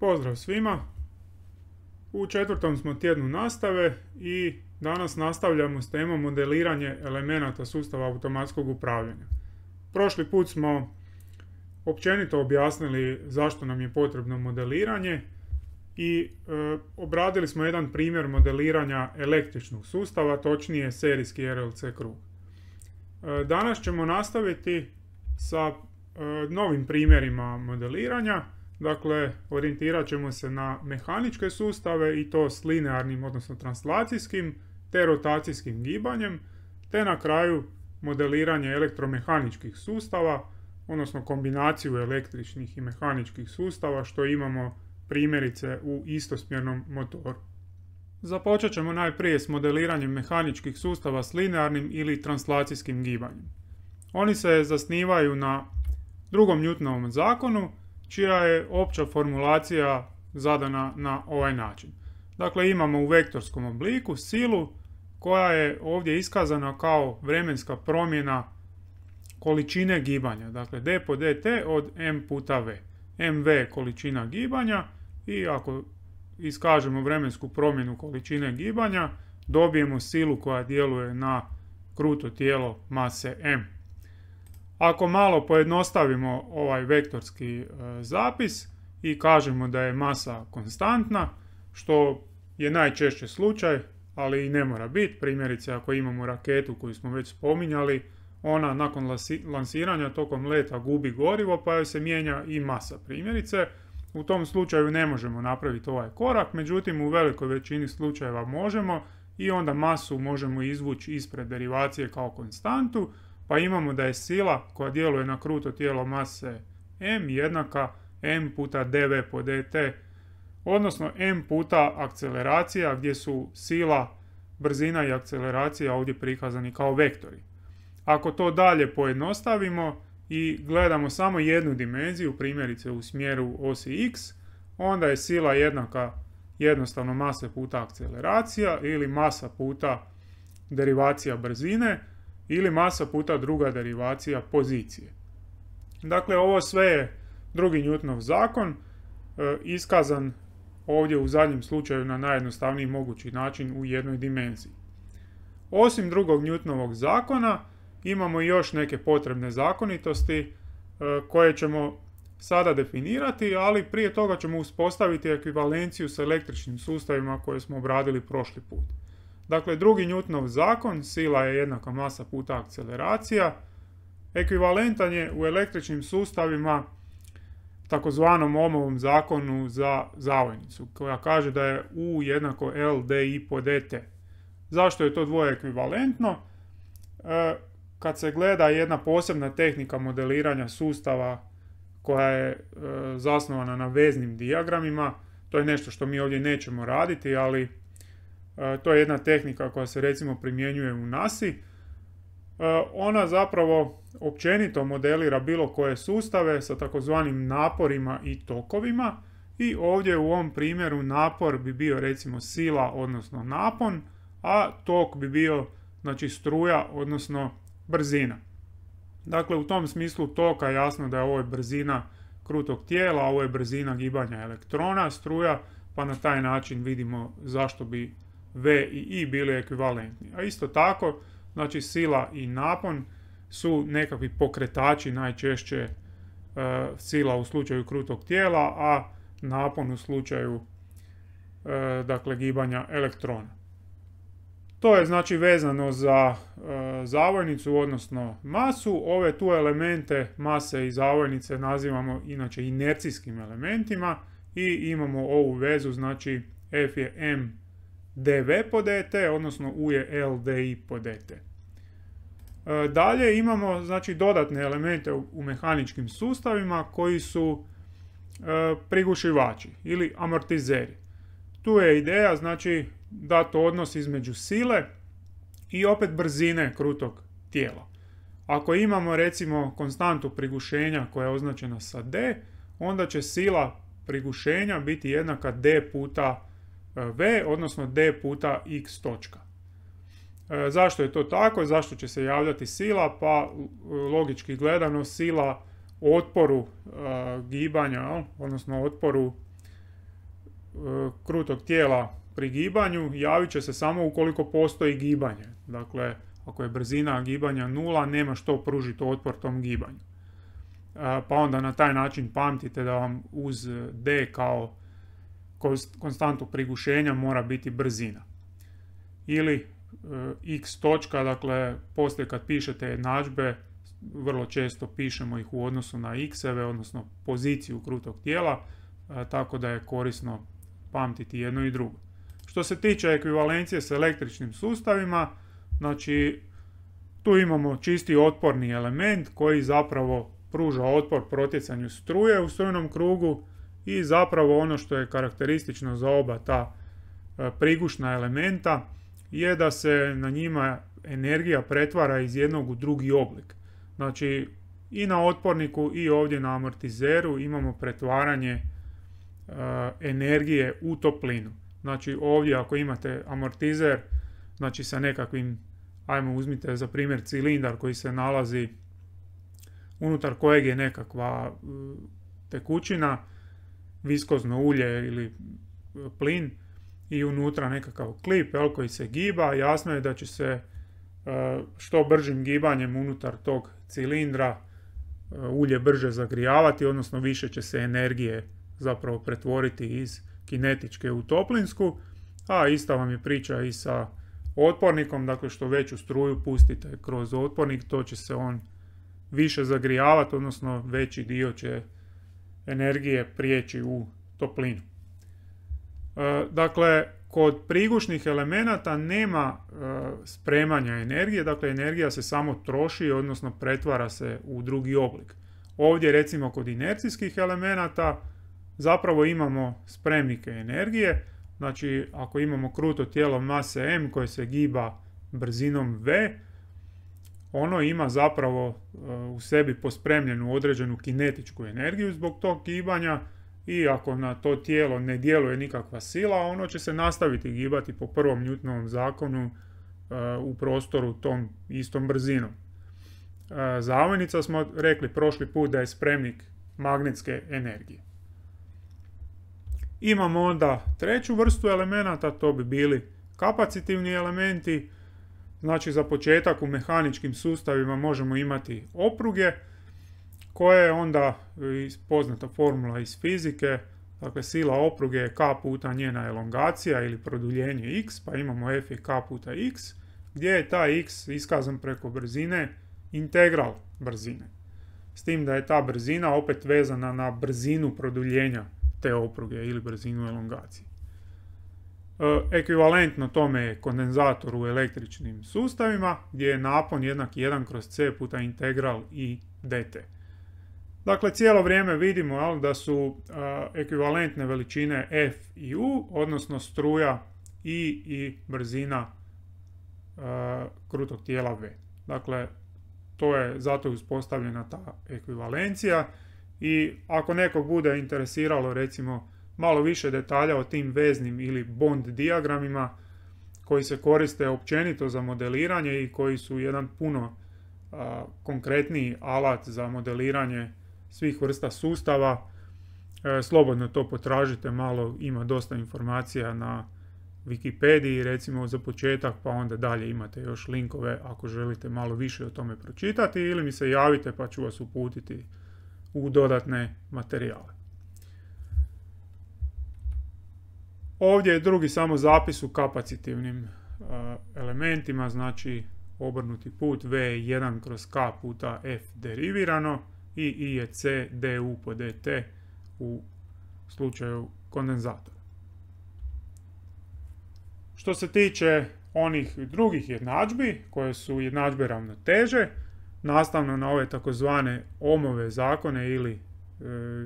Pozdrav svima! U četvrtom smo tjednu nastave i danas nastavljamo s temom modeliranje elemenata sustava automatskog upravljanja. Prošli put smo općenito objasnili zašto nam je potrebno modeliranje i obradili smo jedan primjer modeliranja električnog sustava, točnije serijski RLC krug. Danas ćemo nastaviti sa novim primjerima modeliranja. Dakle, orijentirat ćemo se na mehaničke sustave i to s linearnim, odnosno translacijskim, te rotacijskim gibanjem, te na kraju modeliranje elektromehaničkih sustava, odnosno kombinaciju električnih i mehaničkih sustava što imamo primjerice u istosmjernom motoru. Započet ćemo najprije s modeliranjem mehaničkih sustava s linearnim ili translacijskim gibanjem. Oni se zasnivaju na drugom Newtonovom zakonu, čija je opća formulacija zadana na ovaj način. Dakle, imamo u vektorskom obliku silu koja je ovdje iskazana kao vremenska promjena količine gibanja. Dakle, d po dt od m puta v. mv je količina gibanja i ako iskažemo vremensku promjenu količine gibanja, dobijemo silu koja djeluje na kruto tijelo mase m. Ako malo pojednostavimo ovaj vektorski zapis i kažemo da je masa konstantna, što je najčešće slučaj, ali i ne mora biti. Primjerice, ako imamo raketu koju smo već spominjali, ona nakon lansiranja tokom leta gubi gorivo pa joj se mijenja i masa. Primjerice, u tom slučaju ne možemo napraviti ovaj korak, međutim u velikoj većini slučajeva možemo i onda masu možemo izvući ispred derivacije kao konstantu, pa imamo da je sila koja djeluje na kruto tijelo mase m jednaka m puta dv po dt, odnosno m puta akceleracija gdje su sila, brzina i akceleracija ovdje prikazani kao vektori. Ako to dalje pojednostavimo i gledamo samo jednu dimenziju, primjerice u smjeru osi x, onda je sila jednaka jednostavno mase puta akceleracija ili masa puta derivacija brzine, ili masa puta druga derivacija pozicije. Dakle, ovo sve je drugi Newtonov zakon, iskazan ovdje u zadnjem slučaju na najjednostavniji mogući način u jednoj dimenziji. Osim drugog Newtonovog zakona, imamo još neke potrebne zakonitosti koje ćemo sada definirati, ali prije toga ćemo uspostaviti ekvivalenciju s električnim sustavima koje smo obradili prošli put. Dakle, drugi Newtonov zakon, sila je jednaka masa puta akceleracija, ekvivalentan je u električnim sustavima takozvanom Ohmovom zakonu za zavojnicu, koja kaže da je U jednako L di po dt. Zašto je to dvoje ekvivalentno? Kad se gleda jedna posebna tehnika modeliranja sustava koja je zasnovana na veznim dijagramima, to je nešto što mi ovdje nećemo raditi, ali to je jedna tehnika koja se recimo primjenjuje u NASA-i. Ona zapravo općenito modelira bilo koje sustave sa takozvanim naporima i tokovima i ovdje u ovom primjeru napor bi bio recimo sila odnosno napon, a tok bi bio znači struja odnosno brzina. Dakle, u tom smislu toka jasno da je ovo brzina krutog tijela, ovo je brzina gibanja elektrona, struja, pa na taj način vidimo zašto bi V i I bili ekvivalentni. A isto tako, znači sila i napon su nekakvi pokretači, najčešće sila u slučaju krutog tijela, a napon u slučaju dakle gibanja elektrona. To je znači vezano za zavojnicu, odnosno masu. Ove tu elemente mase i zavojnice nazivamo inače inercijskim elementima i imamo ovu vezu, znači F je m dv po dt, odnosno U je L di po dt. Dalje imamo znači dodatne elemente u mehaničkim sustavima koji su prigušivači ili amortizeri. Tu je ideja znači dati odnos između sile i opet brzine krutog tijela. Ako imamo recimo konstantu prigušenja koja je označena sa d, onda će sila prigušenja biti jednaka d puta v, odnosno d puta x točka. Zašto je to tako? Zašto će se javljati sila? Pa logički gledano sila otporu gibanja, odnosno otporu krutog tijela pri gibanju javit će se samo ukoliko postoji gibanje. Dakle, ako je brzina gibanja 0, nema što pružiti otpor tom gibanju. Pa onda na taj način pamtite da vam uz d kao konstantu prigušenja mora biti brzina. Ili x točka, dakle poslije kad pišete jednadžbe vrlo često pišemo ih u odnosu na x-eve, odnosno poziciju krutog tijela, tako da je korisno pamtiti jedno i drugo. Što se tiče ekvivalencije s električnim sustavima, znači tu imamo čisti otporni element koji zapravo pruža otpor protjecanju struje u strujnom krugu i zapravo ono što je karakteristično za oba ta prigušna elementa je da se na njima energija pretvara iz jednog u drugi oblik. Znači i na otporniku i ovdje na amortizeru imamo pretvaranje energije u toplinu. Znači ovdje ako imate amortizer, znači sa nekakvim, ajmo uzmite za primjer cilindar koji se nalazi unutar kojeg je nekakva tekućina, viskozno ulje ili plin i unutra nekakav klip koji se giba, jasno je da će se što bržim gibanjem unutar tog cilindra ulje brže zagrijavati, odnosno više će se energije zapravo pretvoriti iz kinetičke u toplinsku, a ista vam je priča i sa otpornikom, dakle što veću struju pustite kroz otpornik, to će se on više zagrijavati, odnosno veći dio će energije prijeći u toplinu. Dakle, kod prigušnih elemenata nema spremanja energije, dakle energija se samo troši, odnosno pretvara se u drugi oblik. Ovdje recimo kod inercijskih elemenata zapravo imamo spremnike energije, znači ako imamo kruto tijelo mase m koje se giba brzinom v, ono ima zapravo u sebi pospremljenu određenu kinetičku energiju zbog tog gibanja i ako na to tijelo ne djeluje nikakva sila, ono će se nastaviti gibati po prvom Newtonovom zakonu u prostoru tom istom brzinom. Zavojnica smo rekli prošli put da je spremnik magnetske energije. Imamo onda treću vrstu elemenata, to bi bili kapacitivni elementi. Znači za početak u mehaničkim sustavima možemo imati opruge koje je onda poznata formula iz fizike, dakle sila opruge je k puta njena elongacija ili produljenje x, pa imamo f je k puta x, gdje je taj x iskazan preko brzine integral brzine. S tim da je ta brzina opet vezana na brzinu produljenja te opruge ili brzinu elongacije. Ekvivalentno tome je kondenzator u električnim sustavima gdje je napon jednak 1 kroz c puta integral i dt. Dakle, cijelo vrijeme vidimo da su ekvivalentne veličine f i u, odnosno struja i brzina krutog tijela v. Dakle, zato je uspostavljena ta ekvivalencija i ako nekog bude interesiralo recimo malo više detalja o tim veznim ili bond dijagramima koji se koriste općenito za modeliranje i koji su jedan puno konkretniji alat za modeliranje svih vrsta sustava, slobodno to potražite malo, ima dosta informacija na Wikipediji recimo za početak, pa onda dalje imate još linkove ako želite malo više o tome pročitati ili mi se javite pa ću vas uputiti u dodatne materijale. Ovdje je drugi samo zapis u kapacitivnim elementima, znači obrnuti put v je 1 kroz k puta f derivirano i I je c du po dt u slučaju kondenzatora. Što se tiče onih drugih jednadžbi, koje su jednadžbe ravnoteže, nastavno na ove takozvane Ohmove zakone ili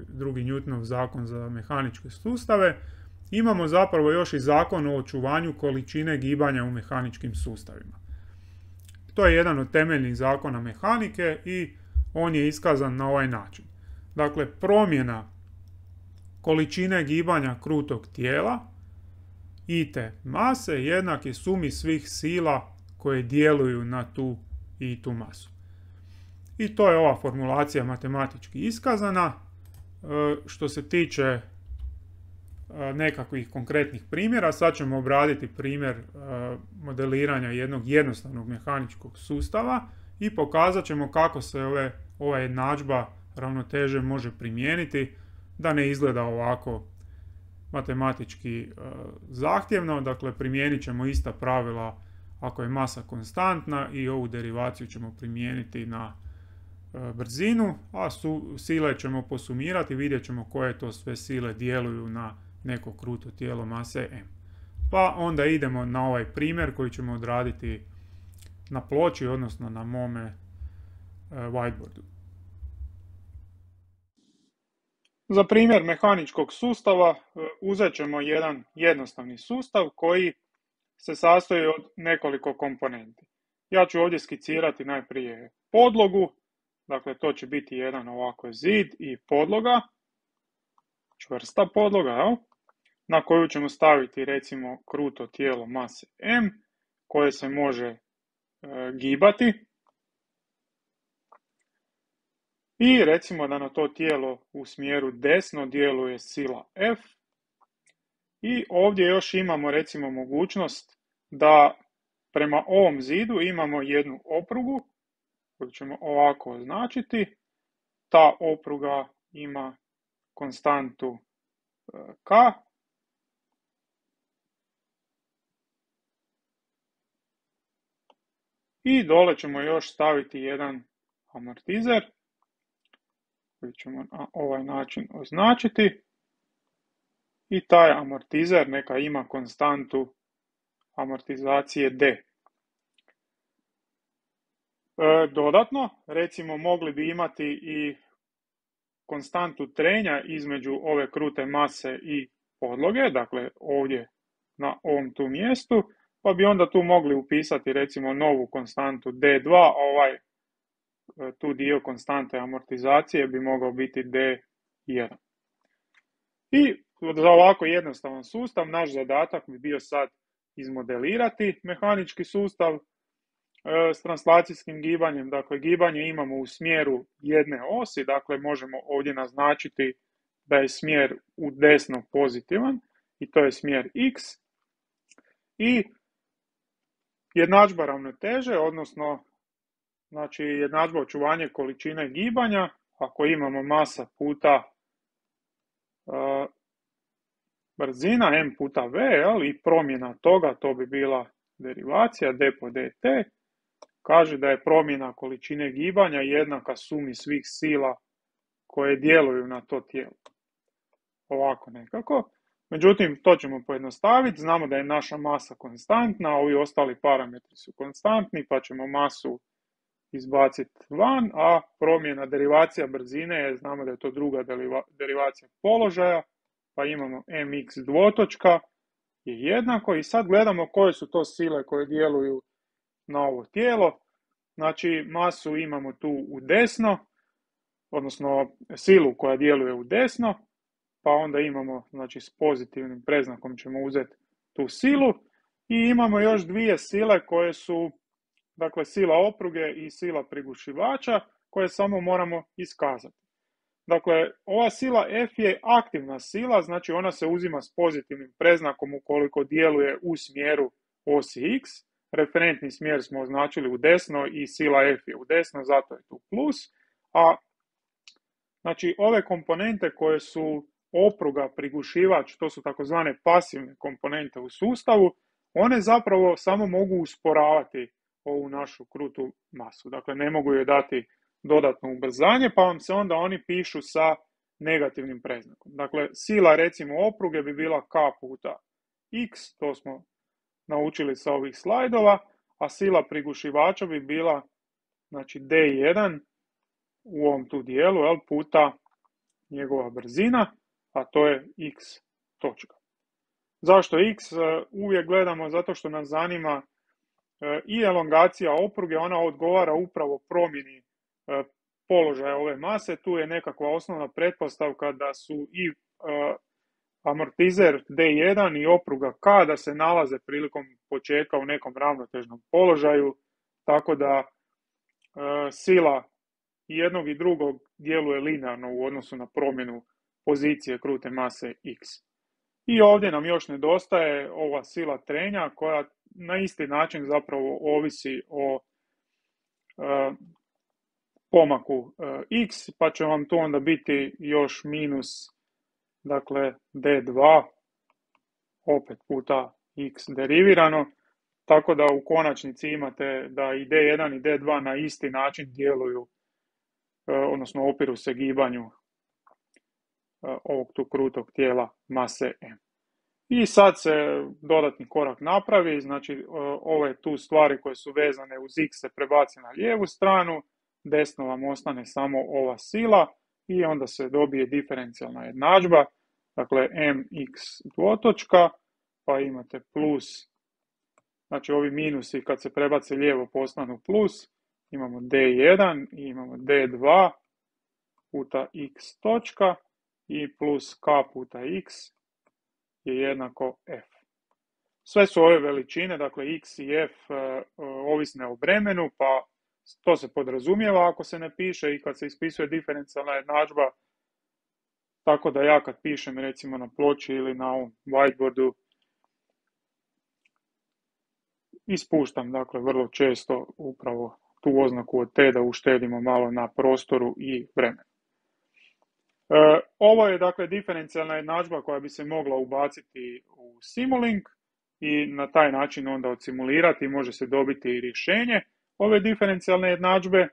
drugi Newtonov zakon za mehaničke sustave, imamo zapravo još i zakon o očuvanju količine gibanja u mehaničkim sustavima. To je jedan od temeljnih zakona mehanike i on je iskazan na ovaj način. Dakle, promjena količine gibanja krutog tijela i te mase jednak je sumi svih sila koje djeluju na tu i tu masu. I to je ova formulacija matematički iskazana. Što se tiče nekakvih konkretnih primjera. Sad ćemo obraditi primjer modeliranja jednog jednostavnog mehaničkog sustava i pokazat ćemo kako se ova jednadžba ravnoteže može primijeniti da ne izgleda ovako matematički zahtjevno. Dakle, primijenit ćemo ista pravila ako je masa konstantna i ovu derivaciju ćemo primijeniti na brzinu, a sile ćemo posumirati, vidjet ćemo koje to sve sile djeluju na neko kruto tijelo mase m. Pa onda idemo na ovaj primjer koji ćemo odraditi na ploči, odnosno na mome whiteboardu. Za primjer mehaničkog sustava uzet ćemo jedan jednostavni sustav koji se sastoji od nekoliko komponenti. Ja ću ovdje skicirati najprije podlogu, dakle to će biti jedan ovako zid i podloga, čvrsta podloga, na koju ćemo staviti recimo kruto tijelo mase m koje se može gibati. I recimo da na to tijelo u smjeru desno djeluje sila F. I ovdje još imamo recimo mogućnost da prema ovom zidu imamo jednu oprugu koju ćemo ovako označiti. Ta opruga ima konstantu K. I dole ćemo još staviti jedan amortizer koji ćemo na ovaj način označiti. I taj amortizer neka ima konstantu amortizacije D. Dodatno, recimo mogli bi imati i konstantu trenja između ove krute mase i podloge, dakle ovdje na ovom tu mjestu, pa bi onda tu mogli upisati recimo novu konstantu D2, a tu dio konstante amortizacije bi mogao biti D1. I za ovako jednostavan sustav naš zadatak bi bio sad izmodelirati mehanički sustav s translacijskim gibanjem. Dakle, gibanje imamo u smjeru jedne osi, dakle možemo ovdje naznačiti da je smjer u desno pozitivan i to je smjer x. I jednadžba ravnoteže, odnosno znači jednadžba očuvanje količine gibanja, ako imamo masa puta brzina m puta v, i promjena toga, to bi bila derivacija d po dt, kaže da je promjena količine gibanja jednaka sumi svih sila koje djeluju na to tijelo. Ovako nekako. Međutim, to ćemo pojednostaviti. Znamo da je naša masa konstantna, ovi ostali parametri su konstantni, pa ćemo masu izbaciti van, a promjena derivacija brzine, znamo da je to druga derivacija položaja, pa imamo mx dvotočka je jednako i sad gledamo koje su to sile koje djeluju na ovo tijelo. Znači masu imamo tu u desno, odnosno silu koja djeluje u desno, pa onda imamo, znači s pozitivnim predznakom ćemo uzeti tu silu i imamo još dvije sile koje su, dakle sila opruge i sila prigušivača koje samo moramo iskazati. Dakle, ova sila F je aktivna sila, znači ona se uzima s pozitivnim predznakom ukoliko djeluje u smjeru osi x. Referentni smjer smo označili u desno i sila F je u desno, zato je tu plus. A znači ove komponente koje su opruga, prigušivač, to su takozvane pasivne komponente u sustavu, one zapravo samo mogu usporavati ovu našu krutu masu. Dakle, ne mogu joj dati dodatno ubrzanje, pa vam se onda oni pišu sa negativnim predznakom. Dakle, sila recimo opruge bi bila k puta x, to smo naučili sa ovih slajdova, a sila prigušivača bi bila, znači d1 u ovom tu dijelu, puta njegova brzina, a to je x točka. Zašto x? Uvijek gledamo zato što nas zanima i elongacija opruge, ona odgovara upravo promjeni položaja ove mase. Tu je nekakva osnovna pretpostavka da su i amortizer D1 i opruga K da se nalaze prilikom početka u nekom ravnotežnom položaju, tako da sila jednog i drugog djeluje linearno u odnosu na promjenu pozicije krute mase x. I ovdje nam još nedostaje ova sila trenja koja na isti način zapravo ovisi o pomaku x, pa će vam to onda biti još minus, dakle, d2, opet puta x derivirano, tako da u konačnici imate da i d1 i d2 na isti način djeluju, odnosno opiru se gibanju ovog tu krutog tijela mase m. I sad se dodatni korak napravi, znači ove tu stvari koje su vezane uz x se prebaci na lijevu stranu, desno vam ostane samo ova sila i onda se dobije diferencijalna jednadžba, dakle mx dvotočka, pa imate plus, znači ovi minusi kad se prebace lijevo postanu plus, imamo d1 i imamo d2 puta x točka i plus k puta x je jednako f. Sve su ove veličine, dakle x i f, ovisne o vremenu, pa to se podrazumijeva ako se ne piše i kad se ispisuje diferencijalna jednadžba, tako da ja kad pišem recimo na ploči ili na ovom whiteboardu, ispuštam dakle vrlo često upravo tu oznaku od t da uštedimo malo na prostoru i vremenu. Ovo je dakle diferencijalna jednadžba koja bi se mogla ubaciti u Simulink i na taj način onda odsimulirati i može se dobiti i rješenje ove diferencijalne jednadžbe,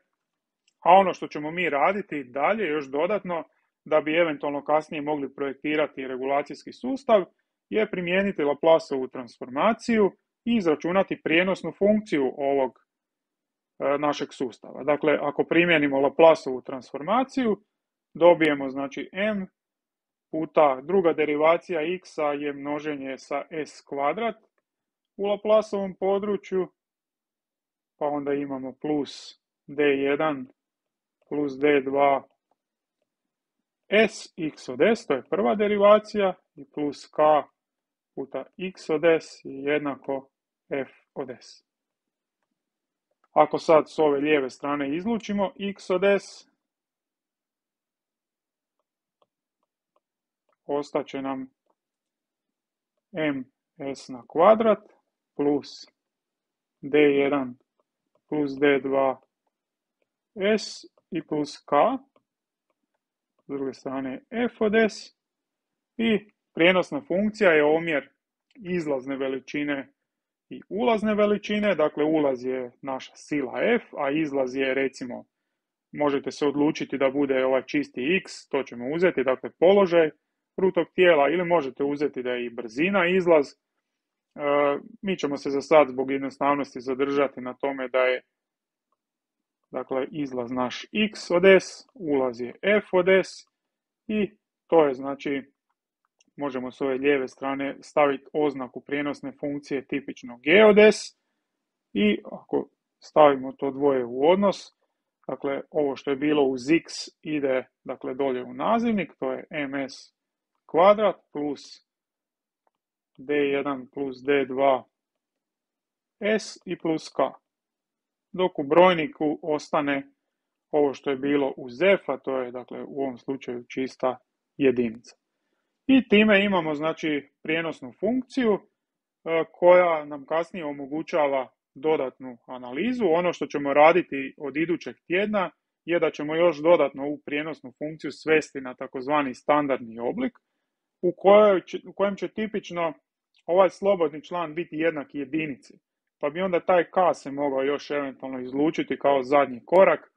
a ono što ćemo mi raditi dalje još dodatno da bi eventualno kasnije mogli projektirati regulacijski sustav je primijeniti Laplaceovu transformaciju i izračunati prijenosnu funkciju ovog našeg sustava. Dakle, ako primijenimo Laplaceovu transformaciju, dobijemo znači m puta druga derivacija x je množenje sa s kvadrat u Laplaceovom području, pa onda imamo plus d1 plus d2 s x od s, to je prva derivacija, i plus k puta x od s je jednako f od s. Ako sad s ove lijeve strane izlučimo x od s, ostaće nam ms na kvadrat plus d1 plus d2 s i plus k, s druge strane f od s, i prijenosna funkcija je omjer izlazne veličine i ulazne veličine, dakle ulaz je naša sila f, a izlaz je recimo, možete se odlučiti da bude ovaj čisti x, to ćemo uzeti, dakle položaj krutog tijela, ili možete uzeti da je i brzina izlaz. Mi ćemo se za sad zbog jednostavnosti zadržati na tome da je dakle izlaz naš x od s, ulaz je f od s i to je znači, možemo s ove lijeve strane staviti oznaku prijenosne funkcije tipično g od s i ako stavimo to dvoje u odnos, dakle ovo što je bilo uz x ide dakle dolje u nazivnik, to je ms kvadrat plus d1 plus d2 s i plus k, dok u brojniku ostane ovo što je bilo uz f, a to je dakle u ovom slučaju čista jedinica. I time imamo znači prijenosnu funkciju koja nam kasnije omogućava dodatnu analizu. Ono što ćemo raditi od idućeg tjedna je da ćemo još dodatno ovu prijenosnu funkciju svesti na takozvani standardni oblik u kojem će tipično ovaj slobodni član biti jednak jedinici. Pa bi onda taj k se mogao još eventualno izlučiti kao zadnji korak.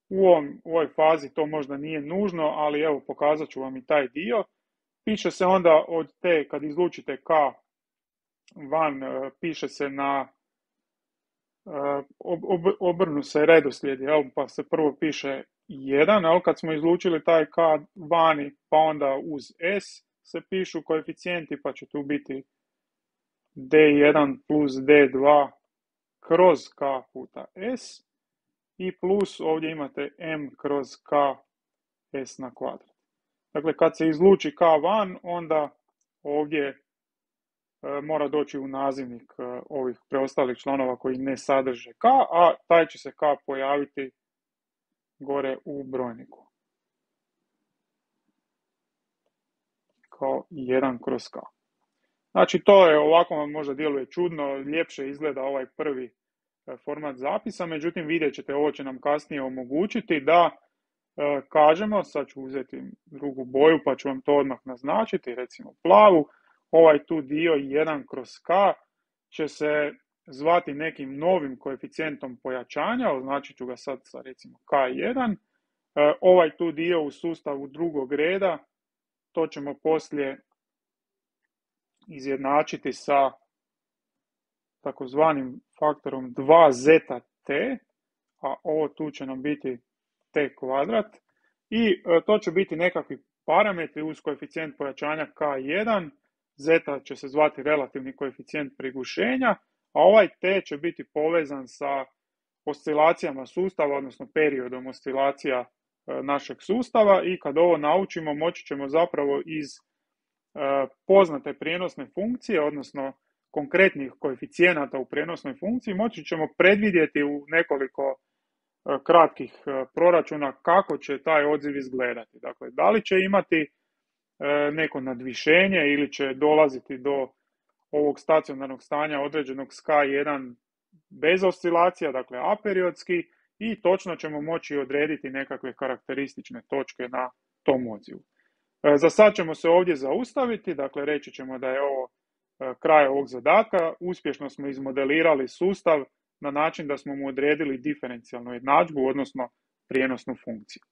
U ovoj fazi to možda nije nužno, ali evo pokazat ću vam i taj dio. Piše se onda od te, kad izlučite k van, piše se na obrnu se redoslijed, pa se prvo piše 1, kad smo izlučili taj k vani, pa onda uz s se pišu koeficijenti, pa će tu biti d1 plus d2 kroz k puta s i plus ovdje imate m kroz k s na kvadrat. Dakle, kad se izluči k van, onda ovdje mora doći u nazivnik ovih preostalih članova koji ne sadrže k, a taj će se k pojaviti gore u brojniku. K kao 1/k. Znači to je, ovako vam možda djeluje čudno, ljepše izgleda ovaj prvi format zapisa, međutim vidjet ćete, ovo će nam kasnije omogućiti da kažemo, sad ću uzeti drugu boju pa ću vam to odmah naznačiti, recimo plavu, ovaj tu dio 1/k će se zvati nekim novim koeficijentom pojačanja, označit ću ga sad sa recimo K1, ovaj tu dio u sustavu drugog reda, to ćemo poslije izjednačiti sa takozvanim faktorom 2zt, a ovo tu će nam biti t kvadrat, i to će biti nekakvi parametri uz koeficijent pojačanja K1, zeta će se zvati relativni koeficijent prigušenja, a ovaj t će biti povezan sa oscilacijama sustava, odnosno periodom oscilacija našeg sustava, i kad ovo naučimo moći ćemo zapravo iz poznate prijenosne funkcije, odnosno konkretnih koeficijenata u prijenosnoj funkciji, moći ćemo predvidjeti u nekoliko kratkih proračuna kako će taj odziv izgledati. Dakle, da li će imati neko nadvišenje ili će dolaziti do ovog stacionarnog stanja određenog s K1 bez oscilacija, dakle aperiodski, i točno ćemo moći odrediti nekakve karakteristične točke na tom odzivu. Za sad ćemo se ovdje zaustaviti, dakle reći ćemo da je ovo kraj ovog zadatka. Uspješno smo izmodelirali sustav na način da smo mu odredili diferencijalnu jednadžbu, odnosno prijenosnu funkciju.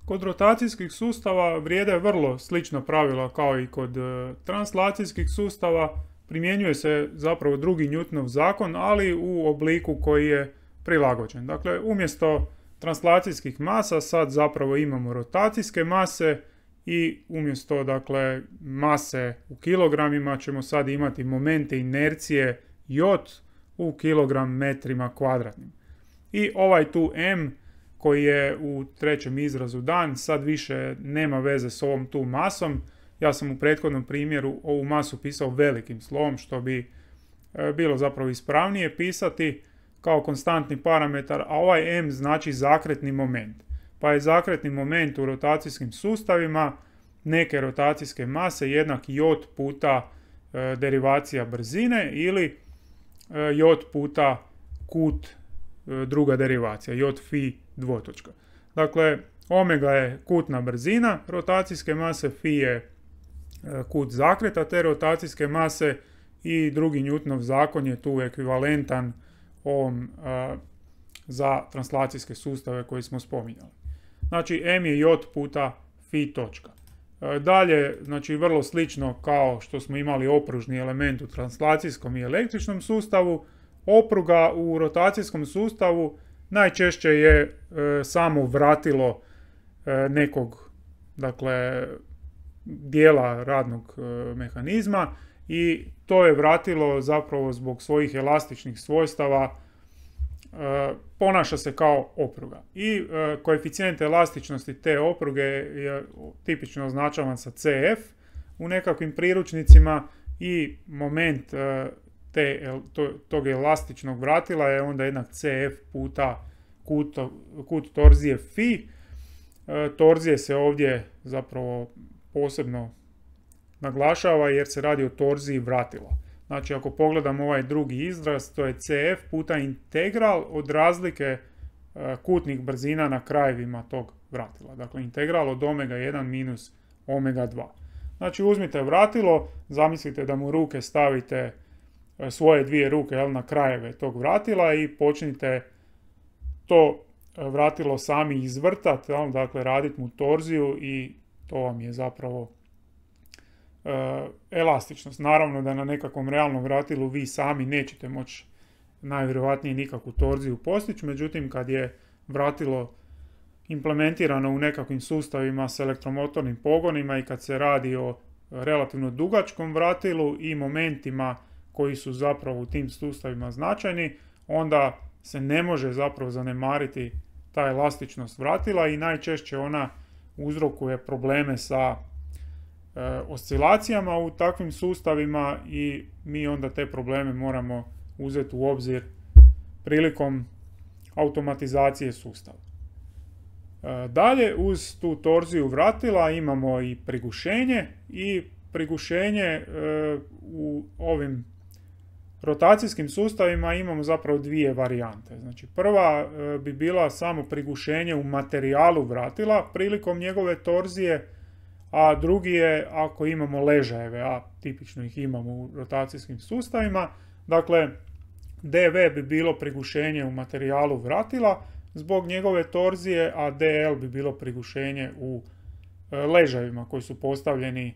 Kod rotacijskih sustava vrijede vrlo slična pravila kao i kod translacijskih sustava. Primjenjuje se zapravo drugi Newtonov zakon, ali u obliku koji je prilagođen. Dakle, umjesto translacijskih masa sad zapravo imamo rotacijske mase i umjesto, dakle, mase u kilogramima ćemo sad imati momente inercije J u kilogram metrima kvadratnim. I ovaj tu M koji je u trećem izrazu dan sad više nema veze s ovom tu masom. Ja sam u prethodnom primjeru ovu masu pisao velikim slovom, što bi bilo zapravo ispravnije pisati kao konstantni parametar, a ovaj M znači zakretni moment. Pa je zakretni moment u rotacijskim sustavima neke rotacijske mase jednak J puta derivacija brzine ili J puta kut druga derivacija, J phi dvotočka. Dakle, omega je kutna brzina rotacijske mase, phi je kut zakreta te rotacijske mase i drugi Newtonov zakon je tu ekvivalentan ovom za translacijske sustave koji smo spominjali. Znači, M je J puta phi točka. Dalje, znači vrlo slično kao što smo imali opružni element u translacijskom i električnom sustavu, opruga u rotacijskom sustavu najčešće je samo vratilo nekog, dakle, dijela radnog mehanizma, i to je vratilo zapravo zbog svojih elastičnih svojstava ponaša se kao opruga. I koeficijent elastičnosti te opruge je tipično označavan sa CF u nekakvim priručnicima i moment tog elastičnog vratila je onda jednak CF puta kut torzije phi. Torzije se ovdje zapravo posebno naglašava jer se radi o torziji vratila. Znači, ako pogledam ovaj drugi izraz, to je CF puta integral od razlike kutnih brzina na krajevima tog vratila. Dakle, integral od omega 1 minus omega 2. Znači, uzmite vratilo, zamislite da mu ruke stavite, svoje dvije ruke na krajeve tog vratila i počnite to vratilo sami izvrtati, dakle, raditi mu torziju i to vam je zapravo elastičnost. Naravno da na nekakvom realnom vratilu vi sami nećete moći najvjerojatnije nikakvu torziju postići, međutim kad je vratilo implementirano u nekakvim sustavima s elektromotornim pogonima i kad se radi o relativno dugačkom vratilu i momentima koji su zapravo u tim sustavima značajni, onda se ne može zapravo zanemariti ta elastičnost vratila i najčešće ona uzrokuje probleme sa oscilacijama u takvim sustavima i mi onda te probleme moramo uzeti u obzir prilikom automatizacije sustava. Dalje, uz tu torziju vratila imamo i prigušenje i prigušenje u ovim rotacijskim sustavima imamo zapravo dvije varijante. Znači, prva bi bila samo prigušenje u materijalu vratila prilikom njegove torzije, a drugi je ako imamo ležajeve, a tipično ih imamo u rotacijskim sustavima. Dakle, DV bi bilo prigušenje u materijalu vratila zbog njegove torzije, a DL bi bilo prigušenje u ležajevima koji su postavljeni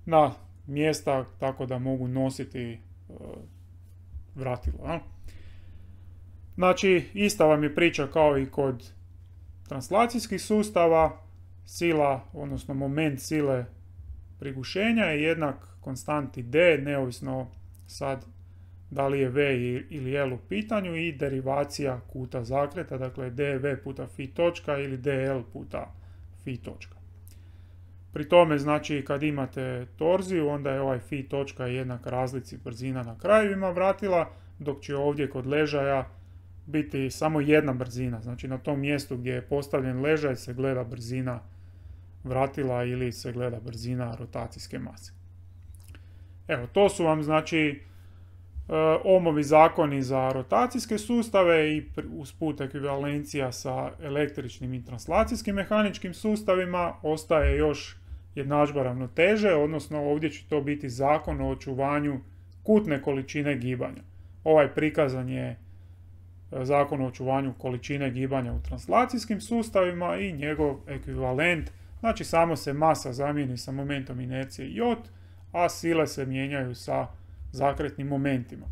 na mjesta tako da mogu nositi vratilo. Znači, ista vam je priča kao i kod translacijskih sustava. Sila, odnosno moment sile prigušenja je jednak konstanti D, neovisno sad da li je V ili L u pitanju, i derivacija kuta zakreta, dakle dV puta phi točka ili dL puta phi točka. Pri tome, znači, kad imate torziju, onda je ovaj phi točka jednak razlici brzina na krajevima vratila, dok će ovdje kod ležaja biti samo jedna brzina. Znači, na tom mjestu gdje je postavljen ležaj se gleda brzina vratila ili se gleda brzina rotacijske mase. Evo, to su vam, znači, Ohmovi zakoni za rotacijske sustave i usput ekvivalencija sa električnim i translacijskim mehaničkim sustavima. Ostaje još jednadžba ravnoteže, odnosno ovdje će to biti zakon o očuvanju kutne količine gibanja. Ovaj prikazan je zakon o očuvanju količine gibanja u translacijskim sustavima i njegov ekvivalent, znači samo se masa zamijeni sa momentom inercije J, a sile se mijenjaju sa zakretnim momentima.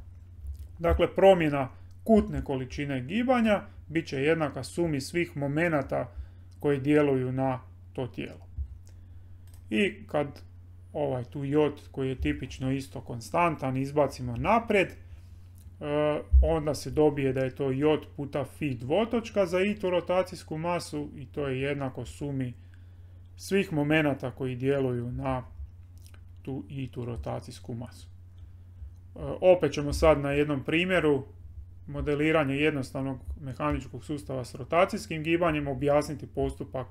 Dakle, promjena kutne količine gibanja bit će jednaka sumi svih momenata koji djeluju na to tijelo. I kad ovaj tu J, koji je tipično isto konstantan, izbacimo naprijed, onda se dobije da je to J puta phi dvotočka za i tu rotacijsku masu i to je jednako sumi svih momenata koji djeluju na tu i tu rotacijsku masu. Opet ćemo sad na jednom primjeru modeliranja jednostavnog mehaničkog sustava s rotacijskim gibanjem objasniti postupak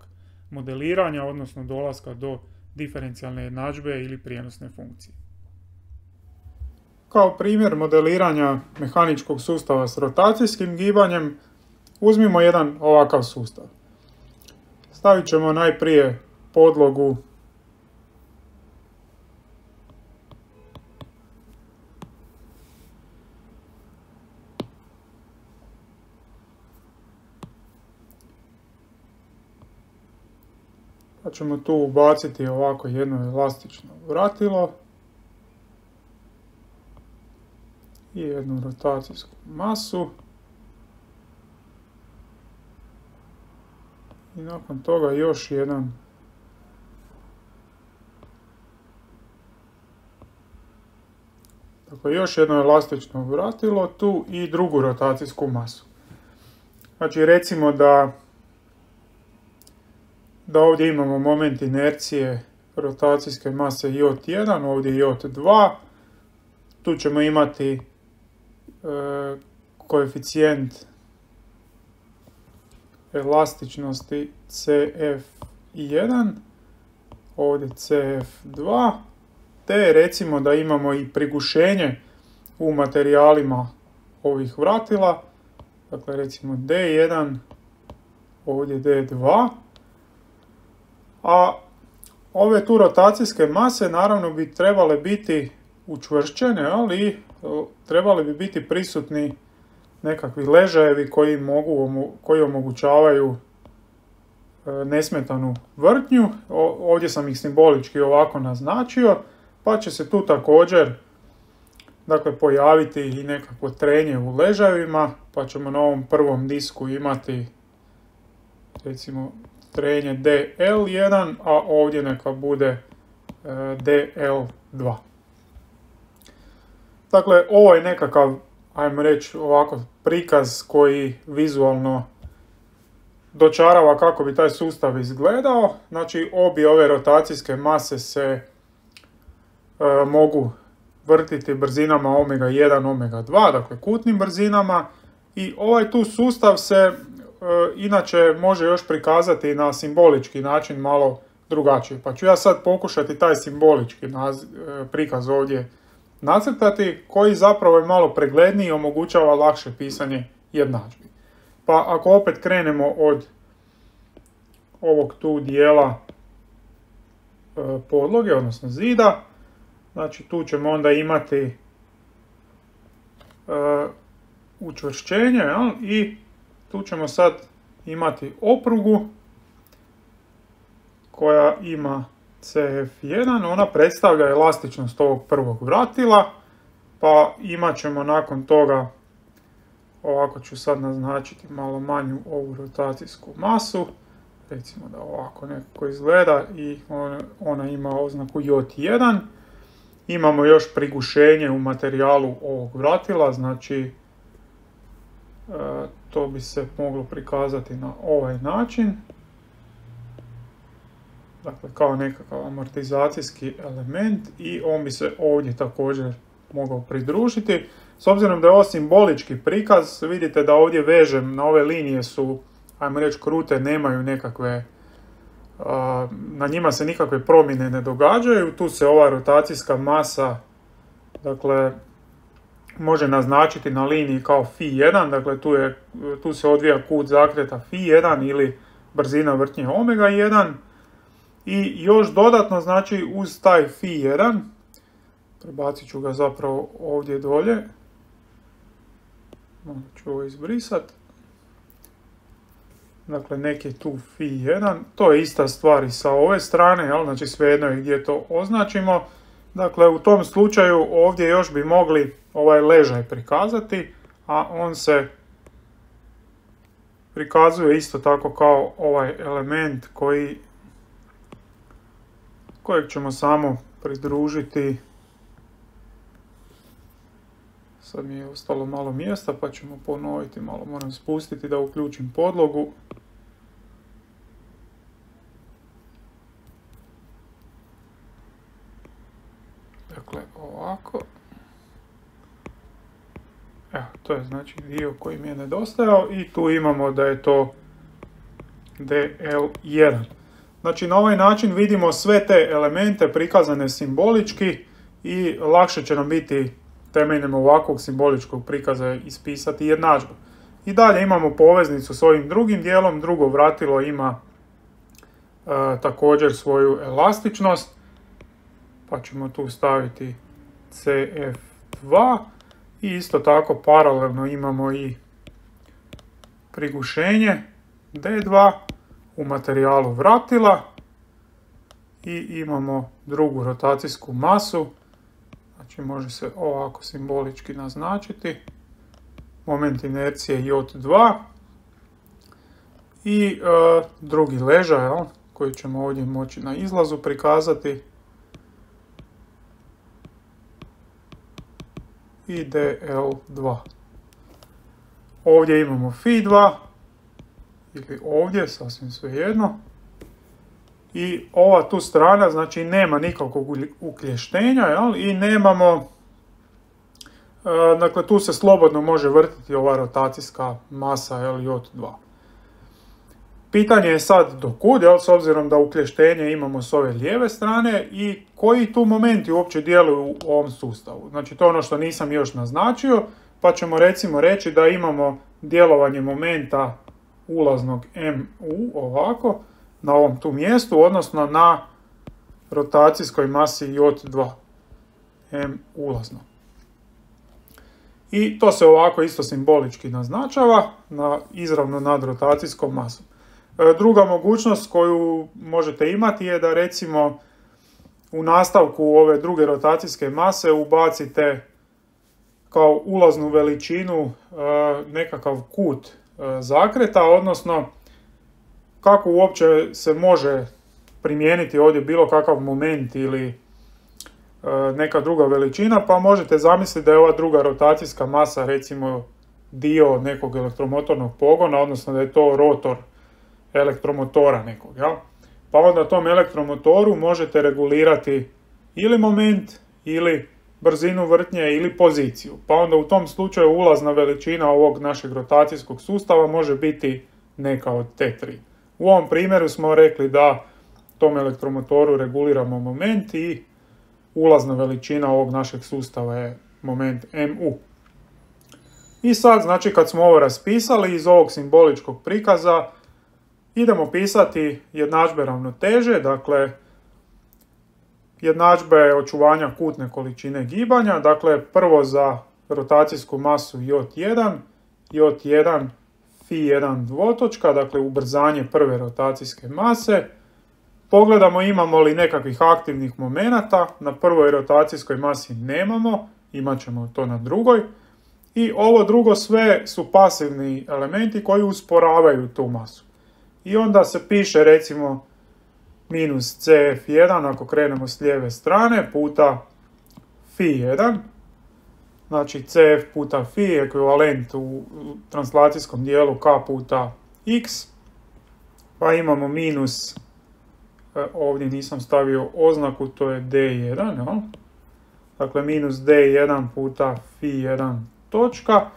modeliranja, odnosno dolaska do diferencijalne jednadžbe ili prijenosne funkcije. Kao primjer modeliranja mehaničkog sustava s rotacijskim gibanjem uzmimo jedan ovakav sustav. Stavit ćemo najprije podlogu pa ćemo tu ubaciti ovako jedno elastično vratilo i jednu rotacijsku masu. I nakon toga još jedan još jedno elastično vratilo tu i drugu rotacijsku masu. Znači, recimo da ovdje imamo moment inercije rotacijske mase J1, ovdje J2. Tu ćemo imati koeficijent elastičnosti CF1, ovdje CF2, te recimo da imamo i prigušenje u materijalima ovih vratila, dakle recimo D1, ovdje D2, a ove tu rotacijske mase naravno bi trebale biti učvršćene, ali trebali bi biti prisutni nekakvi ležajevi koji omogućavaju nesmetanu vrtnju. Ovdje sam ih simbolički ovako naznačio, pa će se tu također pojaviti i nekakvo trenje u ležajevima, pa ćemo na ovom prvom disku imati recimo trenje DL1, a ovdje neka bude DL2. Dakle, ovo je nekakav, ajmo reći ovako, prikaz koji vizualno dočarava kako bi taj sustav izgledao. Znači, obje ove rotacijske mase se mogu vrtiti brzinama omega 1, omega 2, dakle kutnim brzinama, i ovaj tu sustav se inače može još prikazati na simbolički način malo drugačije. Pa ću ja sad pokušati taj simbolički prikaz ovdje nacrtati, koji zapravo je malo pregledniji i omogućava lakše pisanje jednadžbi. Pa ako opet krenemo od ovog tu dijela podloge, odnosno zida, znači tu ćemo onda imati učvršćenje, i tu ćemo sad imati oprugu koja ima CF1, ona predstavlja elastičnost ovog prvog vratila, pa imat ćemo nakon toga, ovako ću sad naznačiti malo manju ovu rotacijsku masu, recimo da ovako nekako izgleda i ona ima oznaku J1. Imamo još prigušenje u materijalu ovog vratila, znači to bi se moglo prikazati na ovaj način. Dakle, kao nekakav amortizacijski element i on bi se ovdje također mogao pridružiti. S obzirom da je ovo simbolički prikaz, vidite da ovdje vežem na ove linije su, ajmo reći, krute, nemaju nekakve, na njima se nikakve promjene ne događaju. Tu se ova rotacijska masa, dakle, može naznačiti na liniji kao Φ1, dakle tu se odvija kut zakreta Φ1 ili brzina vrtnje omega 1. I još dodatno, znači, uz taj Φ1, prebacit ću ga zapravo ovdje dolje, malo ću ovo izbrisati, dakle neki tu Φ1, to je ista stvar i sa ove strane, jel? Znači svejedno je gdje to označimo. Dakle, u tom slučaju ovdje još bi mogli ovaj ležaj prikazati, a on se prikazuje isto tako kao ovaj element kojeg ćemo samo pridružiti. Sad mi je ostalo malo mjesta pa ćemo ponoviti, malo moram spustiti da uključim podlogu. Dakle, ovako. Evo, to je znači dio koji mi je nedostajao i tu imamo da je to DL1. Znači, na ovaj način vidimo sve te elemente prikazane simbolički i lakše će nam biti temeljem ovakvog simboličkog prikaza ispisati jednadžbu. I dalje imamo poveznicu s ovim drugim dijelom, drugo vratilo ima također svoju elastičnost, pa ćemo tu staviti CF2 i isto tako paralelno imamo i prigušenje D2 u materijalu vratila i imamo drugu rotacijsku masu, znači može se ovako simbolički naznačiti, moment inercije J2 i drugi ležaj koji ćemo ovdje moći na izlazu prikazati i DL2. Ovdje imamo Φ2 ili ovdje, sasvim svejedno. I ova tu strana, znači nema nikakvog ukleštenja, i nemamo, dakle tu se slobodno može vrtiti ova rotacijska masa, J2. Pitanje je sad do kud, s obzirom da ukleštenje imamo s ove lijeve strane i koji tu momenti uopće djeluju u ovom sustavu. Znači to je ono što nisam još naznačio, pa ćemo recimo reći da imamo djelovanje momenta ulaznog MU ovako, na ovom tu mjestu, odnosno na rotacijskoj masi J2, M ulazno. I to se ovako isto simbolički naznačava izravno nad rotacijskom masom. Druga mogućnost koju možete imati je da recimo u nastavku ove druge rotacijske mase ubacite kao ulaznu veličinu nekakav kut zakreta, odnosno kako uopće se može primijeniti ovdje bilo kakav moment ili neka druga veličina, pa možete zamisliti da je ova druga rotacijska masa recimo dio nekog elektromotornog pogona, odnosno da je to rotor elektromotora nekog. Pa onda tom elektromotoru možete regulirati ili moment, ili brzinu vrtnje, ili poziciju. Pa onda u tom slučaju ulazna veličina ovog našeg rotacijskog sustava može biti neka od te tri. U ovom primjeru smo rekli da tom elektromotoru reguliramo moment i ulazna veličina ovog našeg sustava je moment mu. I sad, znači, kad smo ovo raspisali iz ovog simboličkog prikaza, idemo pisati jednadžbe ravnoteže, dakle, jednadžbe očuvanja kutne količine gibanja, dakle, prvo za rotacijsku masu J1, J1 Φ1 dvotočka, dakle, ubrzanje prve rotacijske mase. Pogledamo imamo li nekakvih aktivnih momenata, na prvoj rotacijskoj masi nemamo, imat ćemo to na drugoj. I ovo drugo sve su pasivni elementi koji usporavaju tu masu. I onda se piše recimo minus Cf1 ako krenemo s lijeve strane puta Φ1. Znači Cf puta Φ je ekvivalent u translacijskom dijelu K puta X. Pa imamo minus, ovdje nisam stavio oznaku, to je D1. No? Dakle minus D1 puta Φ1 točka.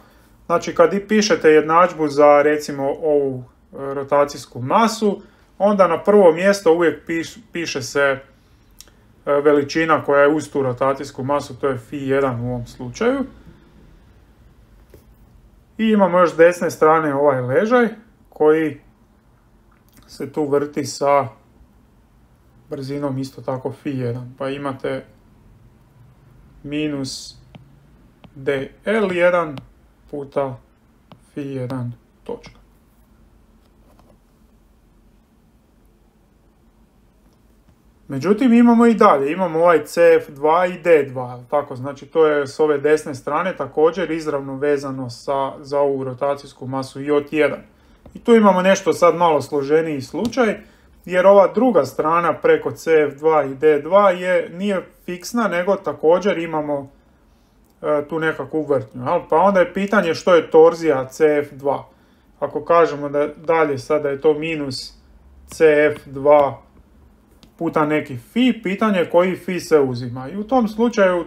Znači kad pišete jednadžbu za recimo ovu rotacijsku masu, onda na prvo mjesto uvijek piše se veličina koja je uz tu rotacijsku masu, to je Φ1 u ovom slučaju. I imamo još s desne strane ovaj ležaj koji se tu vrti sa brzinom isto tako Φ1. Pa imate minus dl1 puta Φ1 točka. Međutim, imamo i dalje, imamo ovaj Cf2 i D2, tako, znači to je s ove desne strane također izravno vezano za ovu rotacijsku masu J1. I tu imamo nešto sad malo složeniji slučaj, jer ova druga strana preko Cf2 i D2 nije fiksna, nego također imamo tu nekakvu vrtnju. Pa onda je pitanje što je torzija Cf2. Ako kažemo da dalje sada je to minus Cf2 puta neki Φ, pitanje koji Φ se uzima. I u tom slučaju,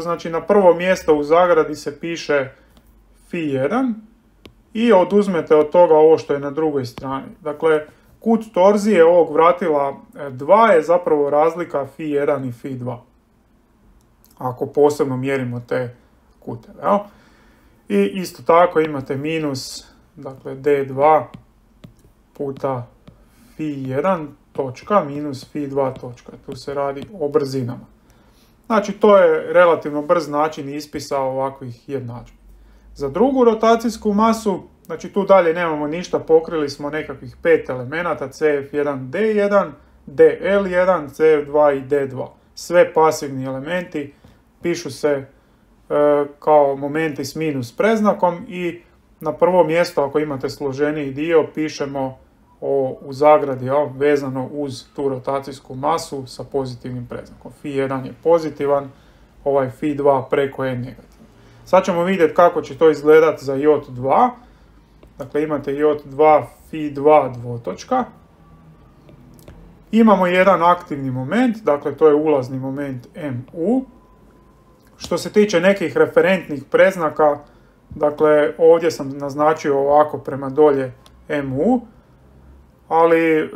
znači na prvo mjesto u zagradi se piše Φ1 i oduzmete od toga ovo što je na drugoj strani. Dakle, kut torzije ovog vratila 2 je zapravo razlika Φ1 i Φ2. Ako posebno mjerimo te kuteve. I isto tako imate minus, dakle D2 puta Φ1 točka minus Φ2 točka. Tu se radi o brzinama. Znači to je relativno brz način ispisa ovakvih jednadžbi. Za drugu rotacijsku masu, znači tu dalje nemamo ništa, pokrili smo nekakvih 5 elemenata Cf1, D1, dl1, Cf2 i D2. Sve pasivni elementi pišu se kao momenti s minus predznakom i na prvo mjesto ako imate složeniji dio pišemo u zagradi vezano uz tu rotacijsku masu sa pozitivnim predznakom. Φ1 je pozitivan, ovaj Φ2 preko je negativan. Sad ćemo vidjeti kako će to izgledati za J2. Dakle imate J2 Φ2 dvotočka. Imamo jedan aktivni moment, dakle to je ulazni moment mu. Što se tiče nekih referentnih predznaka, dakle ovdje sam naznačio ovako prema dolje mu, ali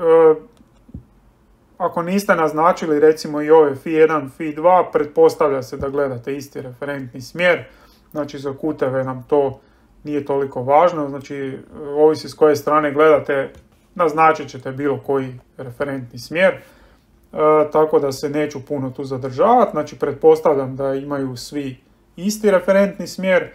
ako niste naznačili recimo i ove Φ1, Φ2, pretpostavlja se da gledate isti referentni smjer, znači za kuteve nam to nije toliko važno, znači ovisi s koje strane gledate, naznačit ćete bilo koji referentni smjer, tako da se neću puno tu zadržavati, znači pretpostavljam da imaju svi isti referentni smjer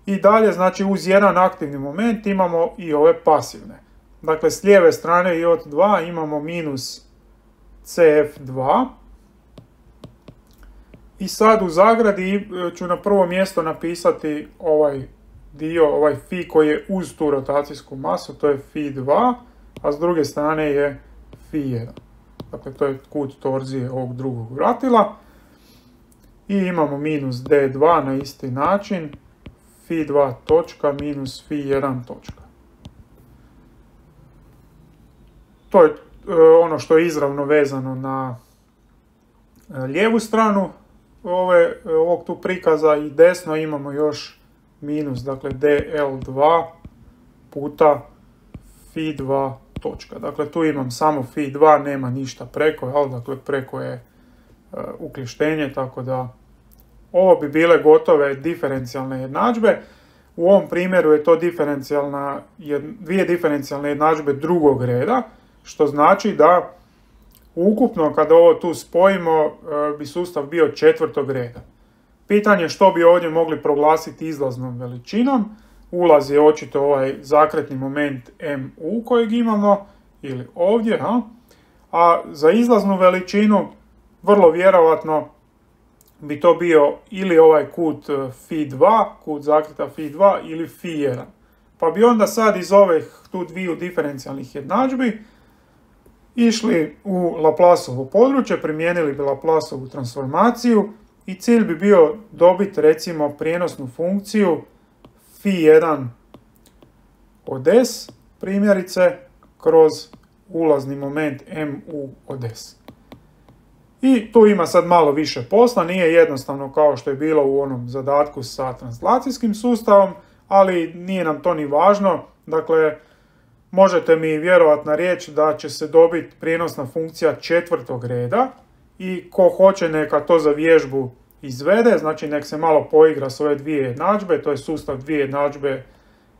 i dalje, znači uz jedan aktivni moment imamo i ove pasivne. Dakle, s lijeve strane J2 imamo minus Cf2 i sad u zagradi ću na prvo mjesto napisati ovaj dio, ovaj Φ koji je uz tu rotacijsku masu, to je Φ2, a s druge strane je Φ1. Dakle, to je kut torzije ovog drugog vratila. I imamo minus D2 na isti način, Φ2 točka minus Φ1 točka. To je ono što je izravno vezano na lijevu stranu ovog tu prikaza i desno imamo još minus, dakle dl2 puta Fi2 točka. Dakle, tu imam samo Fi2, nema ništa preko, jel? Dakle, preko je uključenje, tako da ovo bi bile gotove diferencijalne jednadžbe. U ovom primjeru je to dvije diferencijalne jednadžbe drugog reda, što znači da ukupno kada ovo tu spojimo bi sustav bio četvrtog reda. Pitanje što bi ovdje mogli proglasiti izlaznom veličinom. Ulaz je očito ovaj zakretni moment mu kojeg imamo, ili ovdje, a za izlaznu veličinu vrlo vjerojatno bi to bio ili ovaj kut Fi2, kut zakreta Fi2 ili Fi1. Pa bi onda sad iz ovih tu dviju diferencijalnih jednadžbi išli u Laplaceovo područje, primijenili bi Laplaceovu transformaciju i cilj bi bio dobiti recimo prijenosnu funkciju Fi1 od s, primjerice, kroz ulazni moment mu od s. I tu ima sad malo više posla, nije jednostavno kao što je bilo u onom zadatku sa translacijskim sustavom, ali nije nam to ni važno. Dakle, možete mi vjerovatno reći da će se dobiti prijenosna funkcija četvrtog reda i ko hoće neka to za vježbu izvede, znači nek se malo poigra s ove dvije jednadžbe, to je sustav dvije jednadžbe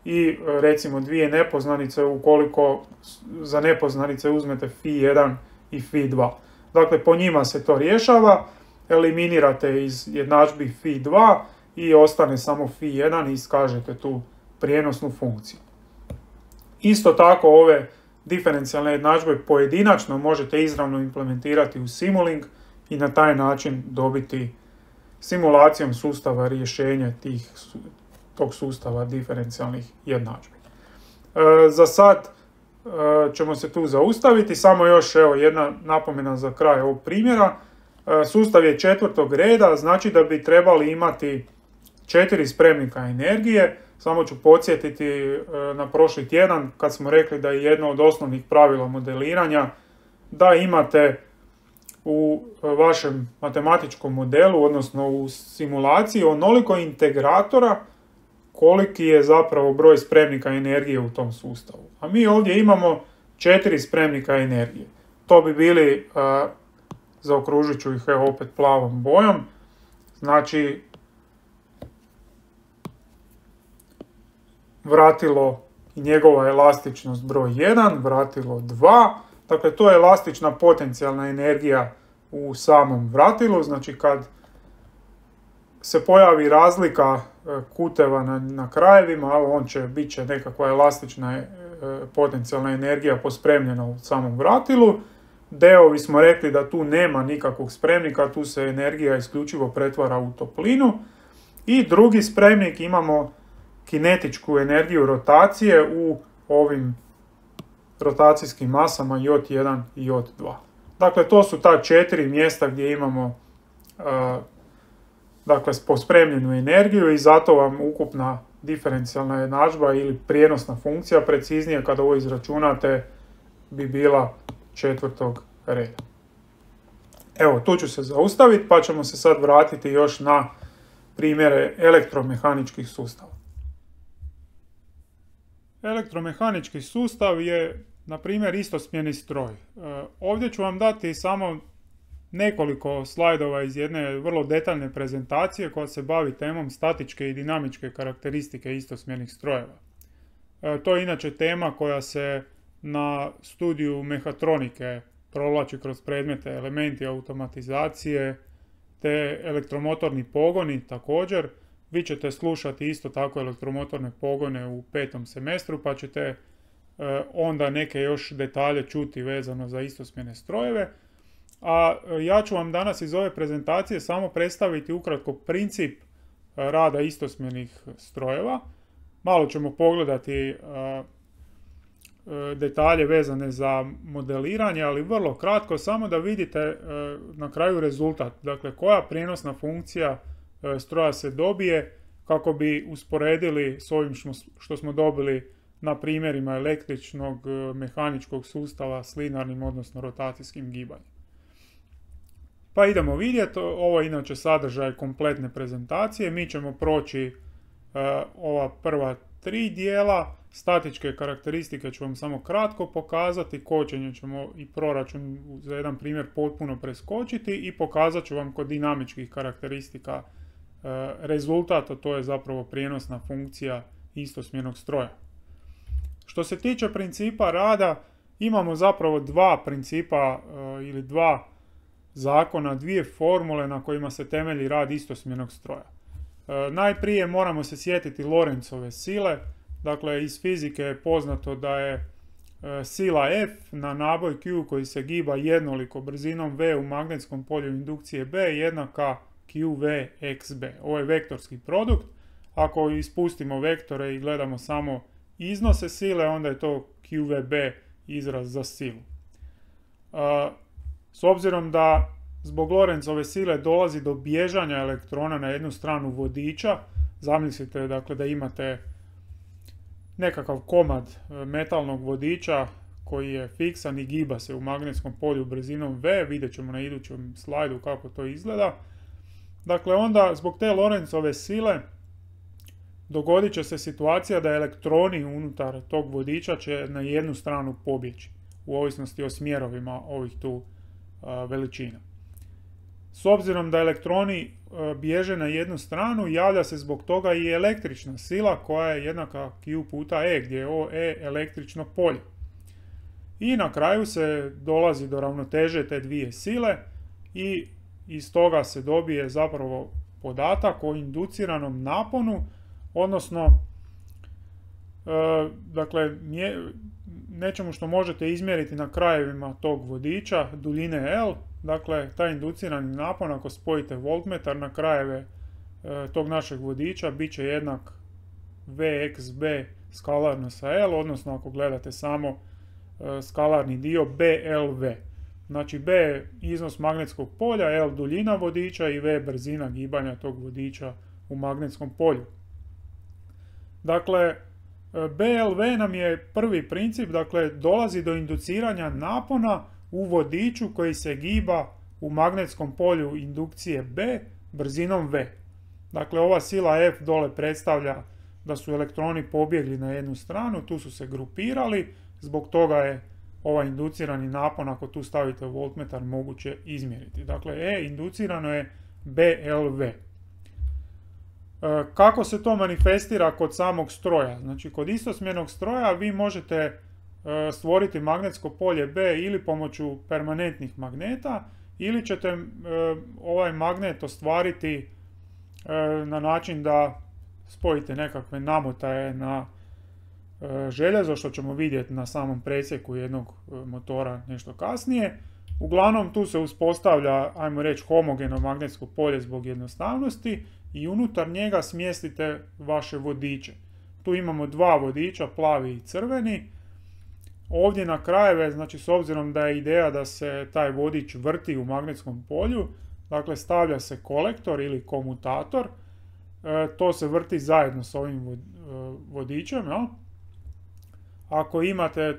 i recimo dvije nepoznanice ukoliko za nepoznanice uzmete Fi1 i Fi2. Dakle, po njima se to rješava, eliminirate iz jednadžbi Fi2 i ostane samo Fi1 i iskažete tu prijenosnu funkciju. Isto tako ove diferencijalne jednadžbe pojedinačno možete izravno implementirati u Simulink i na taj način dobiti simulacijom sustava rješenje tog sustava diferencijalnih jednadžbi. Za sad ćemo se tu zaustaviti, samo još jedna napomena za kraj ovog primjera. Sustav je četvrtog reda, znači da bi trebali imati 4 spremnika energije. Samo ću podsjetiti na prošli tjedan kad smo rekli da je jedno od osnovnih pravila modeliranja da imate u vašem matematičkom modelu, odnosno u simulaciji, onoliko integratora koliki je zapravo broj spremnika energije u tom sustavu. A mi ovdje imamo 4 spremnika energije. To bi bili, zaokružit ću ih opet plavom bojom, znači vratilo i njegova elastičnost broj 1, vratilo 2, dakle to je elastična potencijalna energija u samom vratilu, znači kad se pojavi razlika kuteva na krajevima, bit će nekakva elastična potencijalna energija pospremljena u samom vratilu. Deovi smo rekli da tu nema nikakvog spremnika, tu se energija isključivo pretvara u toplinu. I drugi spremnik imamo kinetičku energiju rotacije u ovim rotacijskim masama J1 i J2. Dakle, to su ta 4 mjesta gdje imamo pospremljenu energiju i zato vam ukupna diferencijalna jednadžba ili prijenosna funkcija, preciznije kada ovo izračunate, bi bila četvrtog reda. Evo, tu ću se zaustaviti pa ćemo se sad vratiti još na primjere elektromehaničkih sustava. Elektromehanički sustav je, na primjer, istosmjerni stroj. Ovdje ću vam dati samo nekoliko slajdova iz jedne vrlo detaljne prezentacije koja se bavi temom statičke i dinamičke karakteristike istosmjernih strojeva. To je inače tema koja se na studiju mehatronike provlači kroz predmete elementi automatizacije te elektromotorni pogoni također. Vi ćete slušati isto tako elektromotorne pogone u 5. semestru pa ćete onda neke još detalje čuti vezano za istosmjerne strojeve. A ja ću vam danas iz ove prezentacije samo predstaviti ukratko princip rada istosmjernih strojeva. Malo ćemo pogledati detalje vezane za modeliranje, ali vrlo kratko, samo da vidite na kraju rezultat. Dakle, koja prijenosna funkcija stroja se dobije kako bi usporedili s ovim što smo dobili na primjerima električnog mehaničkog sustava s linearnim, odnosno rotacijskim gibanjem. Pa idemo vidjeti, ovo je inače sadržaj kompletne prezentacije. Mi ćemo proći ova prva 3 dijela. Statičke karakteristike ću vam samo kratko pokazati, kočenje ćemo i proračun za jedan primjer potpuno preskočiti i pokazat ću vam kod dinamičkih karakteristika rezultat, a to je zapravo prijenosna funkcija istosmjernog stroja. Što se tiče principa rada, imamo zapravo dva principa ili dva zakona, dvije formule na kojima se temelji rad istosmjernog stroja. Najprije moramo se sjetiti Lorenzove sile. Dakle, iz fizike je poznato da je sila F na naboj Q koji se giba jednoliko brzinom V u magnetskom polju indukcije B jednaka QV xB. Ovo je vektorski produkt. Ako ispustimo vektore i gledamo samo iznose sile, onda je to QVB izraz za silu. S obzirom da zbog Lorenzove sile dolazi do bježanja elektrona na jednu stranu vodiča, zamislite dakle da imate nekakav komad metalnog vodiča koji je fiksan i giba se u magnetskom polju brzinom V, vidjet ćemo na idućem slajdu kako to izgleda. Dakle, onda zbog te Lorenzove sile dogodit će se situacija da elektroni unutar tog vodiča će na jednu stranu pobjeći, u ovisnosti o smjerovima ovih tu veličina. S obzirom da elektroni bježe na jednu stranu, javlja se zbog toga i električna sila koja je jednaka Q puta E, gdje je ovo E električno polje. I na kraju se dolazi do ravnoteže te dvije sile i iz toga se dobije zapravo podatak o induciranom naponu, odnosno dakle, nečemu što možete izmjeriti na krajevima tog vodiča, duljine L. Dakle, taj inducirani napon, ako spojite voltmetar na krajeve tog našeg vodiča, bit će jednak Vxb skalarno sa L, odnosno ako gledate samo skalarni dio BLV. Znači B je iznos magnetskog polja, L duljina vodiča i V brzina gibanja tog vodiča u magnetskom polju. Dakle, BLV nam je prvi princip, dakle dolazi do induciranja napona u vodiču koji se giba u magnetskom polju indukcije B brzinom V. Dakle, ova sila F dole predstavlja da su elektroni pobjegli na jednu stranu, tu su se grupirali, zbog toga je ovaj inducirani napon, ako tu stavite voltmetar, moguće izmjeriti. Dakle, E inducirano je BLV. Kako se to manifestira kod samog stroja? Znači, kod istosmjernog stroja vi možete stvoriti magnetsko polje B ili pomoću permanentnih magneta, ili ćete ovaj magnet ostvariti na način da spojite nekakve namotaje na željezo, što ćemo vidjeti na samom presjeku jednog motora nešto kasnije. Uglavnom tu se uspostavlja, ajmo reći, homogeno magnetsko polje zbog jednostavnosti i unutar njega smjestite vaše vodiče. Tu imamo dva vodiča, plavi i crveni. Ovdje na krajeve, znači s obzirom da je ideja da se taj vodič vrti u magnetskom polju, dakle stavlja se kolektor ili komutator, to se vrti zajedno s ovim vodičem. Ja? Ako imate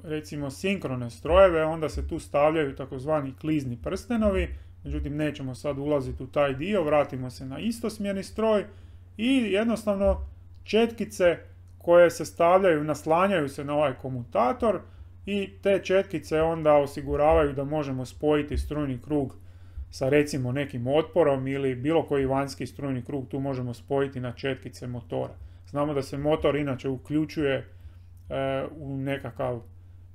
recimo sinkrone strojeve, onda se tu stavljaju takozvani klizni prstenovi, međutim nećemo sad ulaziti u taj dio, vratimo se na istosmjerni stroj i jednostavno četkice koje se stavljaju, naslanjaju se na ovaj komutator i te četkice onda osiguravaju da možemo spojiti strujni krug sa recimo nekim otporom ili bilo koji vanjski strujni krug tu možemo spojiti na četkice motora. Znamo da se motor inače uključuje u nekakav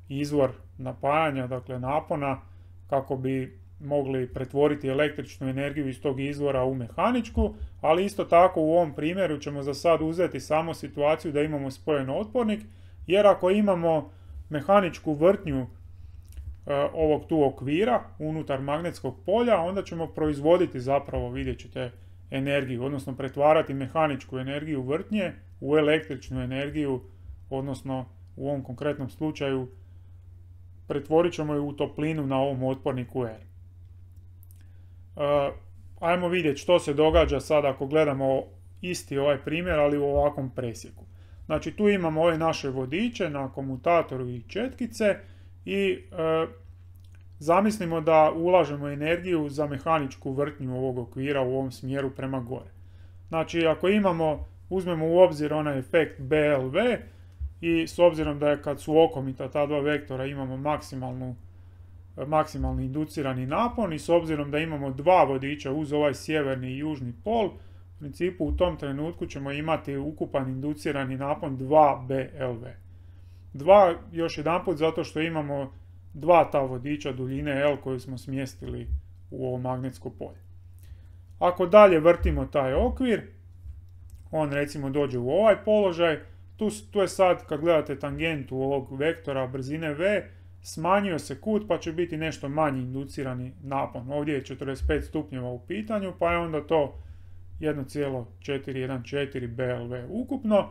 izvor napajanja, dakle napona, kako bi mogli pretvoriti električnu energiju iz tog izvora u mehaničku, ali isto tako u ovom primjeru ćemo za sad uzeti samo situaciju da imamo spojen otpornik, jer ako imamo mehaničku vrtnju ovog tu okvira unutar magnetskog polja, onda ćemo proizvoditi zapravo, vidjet ćete, energiju, odnosno pretvarati mehaničku energiju vrtnje u električnu energiju, odnosno u ovom konkretnom slučaju pretvorit ćemo ju u toplinu na ovom otporniku R. Ajmo vidjeti što se događa sad ako gledamo isti ovaj primjer, ali u ovakvom presjeku. Znači tu imamo ove naše vodiče na komutatoru i četkice i zamislimo da ulažemo energiju za mehaničku vrtnju ovog okvira u ovom smjeru prema gore. Znači ako imamo uzmemo u obzir onaj efekt BLV i s obzirom da je kad su okomita ta dva vektora imamo maksimalni inducirani napon i s obzirom da imamo dva vodiča uz ovaj sjeverni i južni pol, u principu u tom trenutku ćemo imati ukupan inducirani napon 2 BLV. 2 još jedanput zato što imamo dva ta vodiča duljine L koju smo smjestili u ovo magnetsko polje. Ako dalje vrtimo taj okvir, on recimo dođe u ovaj položaj, tu je sad, kad gledate tangentu ovog vektora brzine V, smanjio se kut pa će biti nešto manji inducirani napon. Ovdje je 45 stupnjeva u pitanju, pa je onda to 1,414 BLV ukupno.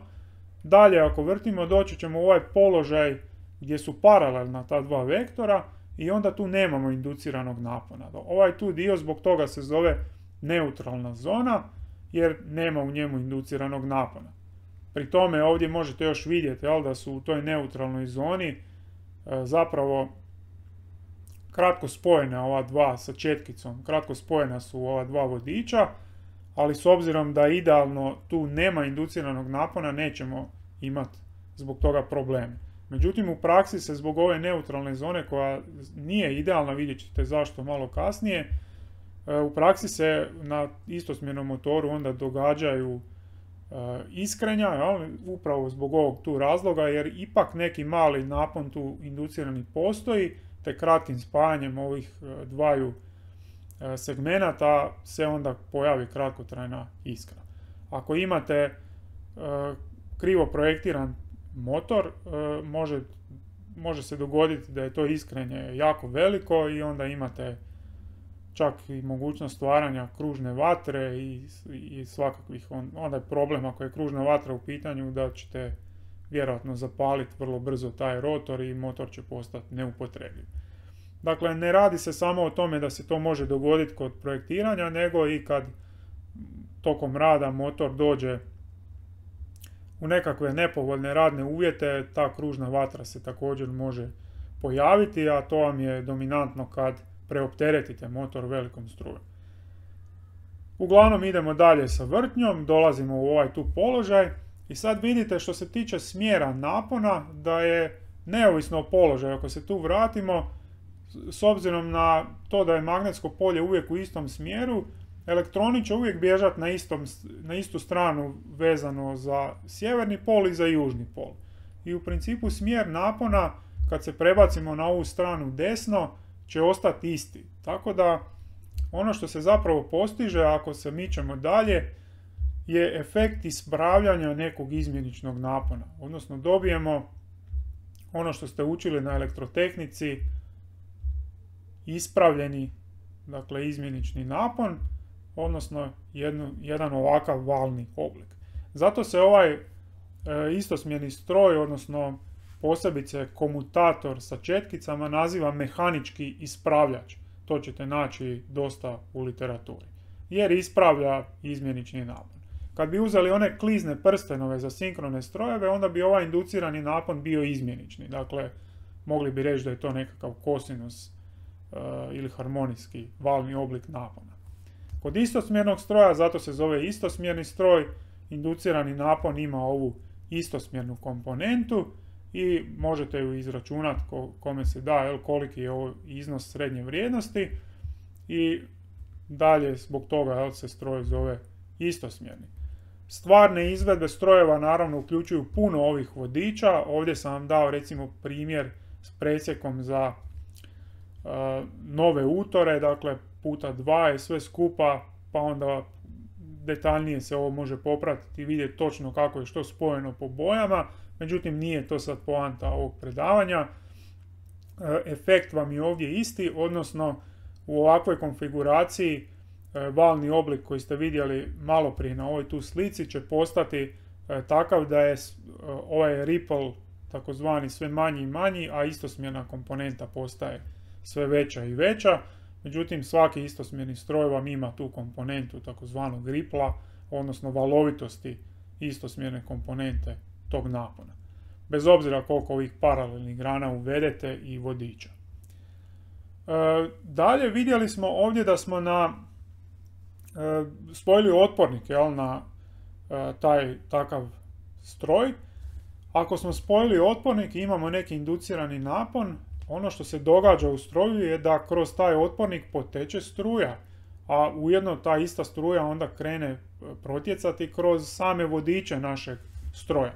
Dalje, ako vrtimo, doći ćemo u ovaj položaj gdje su paralelna ta dva vektora i onda tu nemamo induciranog napona. Ovaj tu dio zbog toga se zove neutralna zona, jer nema u njemu induciranog napona. Pri tome ovdje možete još vidjeti da su u toj neutralnoj zoni zapravo kratko spojena ova dva sa četkicom, kratko spojena su ova dva vodiča, ali s obzirom da idealno tu nema induciranog napona nećemo imati zbog toga probleme. Međutim, u praksi se zbog ove neutralne zone koja nije idealna, vidjet ćete zašto malo kasnije, u praksi se na istosmjernom motoru onda događaju iskrenja, upravo zbog ovog tu razloga, jer ipak neki mali napon tu inducirani postoji, te kratkim spajanjem ovih dvaju segmenata se onda pojavi kratkotrajna iskra. Ako imate krivo projektiran motor, može se dogoditi da je to iskrenje jako veliko i onda imate čak i mogućnost stvaranja kružne vatre i svakakvih, onda je problem ako je kružna vatra u pitanju da ćete vjerojatno zapaliti vrlo brzo taj rotor i motor će postati neupotrebljiv. Dakle, ne radi se samo o tome da se to može dogoditi kod projektiranja, nego i kad tokom rada motor dođe u nekakve nepovoljne radne uvjete, ta kružna vatra se također može pojaviti, a to vam je dominantno kad preopteretite motor velikom strujom. Uglavnom idemo dalje sa vrtnjom, dolazimo u ovaj tu položaj i sad vidite što se tiče smjera napona da je neovisno o položaju. Ako se tu vratimo, s obzirom na to da je magnetsko polje uvijek u istom smjeru, elektroni će uvijek bježati na istu stranu vezano za sjeverni pol i za južni pol. I u principu smjer napona, kad se prebacimo na ovu stranu desno, će ostati isti. Tako da ono što se zapravo postiže ako se mičemo dalje je efekt ispravljanja nekog izmjeničnog napona. Odnosno dobijemo ono što ste učili na elektrotehnici, ispravljeni, dakle izmjenični napon, odnosno jedan ovakav valni oblik. Zato se ovaj istosmjerni stroj, odnosno posebice komutator sa četkicama, naziva mehanički ispravljač. To ćete naći dosta u literaturi. Jer ispravlja izmjenični napon. Kad bi uzeli one klizne prstenove za sinkrone strojeve, onda bi ovaj inducirani napon bio izmjenični. Dakle, mogli bi reći da je to nekakav kosinus ili harmonijski valni oblik napona. Kod istosmjernog stroja, zato se zove istosmjerni stroj, inducirani napon ima ovu istosmjernu komponentu i možete ju izračunati kome se da, koliki je ovo iznos srednje vrijednosti i dalje zbog toga se stroj zove istosmjerni. Stvarne izvedbe strojeva naravno uključuju puno ovih vodiča. Ovdje sam vam dao recimo primjer s presjekom za nove utore, dakle puta 2 i sve skupa, pa onda detaljnije se ovo može popratiti i vidjeti točno kako je što spojeno po bojama. Međutim, nije to sad poanta ovog predavanja. Efekt vam je ovdje isti, odnosno u ovakvoj konfiguraciji valni oblik koji ste vidjeli malo prije na ovoj tu slici će postati takav da je ovaj ripple takozvani sve manji i manji, a istosmjerna komponenta postaje sve veća i veća. Međutim, svaki istosmjerni stroj vam ima tu komponentu takozvanog ripla, odnosno valovitosti istosmjerne komponente tog napona. Bez obzira koliko ovih paralelnih grana uvedete i vodiča. Dalje vidjeli smo ovdje da smo spojili otpornik na taj takav stroj. Ako smo spojili otpornik i imamo neki inducirani napon, ono što se događa u stroju je da kroz taj otpornik poteče struja, a ujedno ta ista struja onda krene protjecati kroz same vodiče našeg stroja.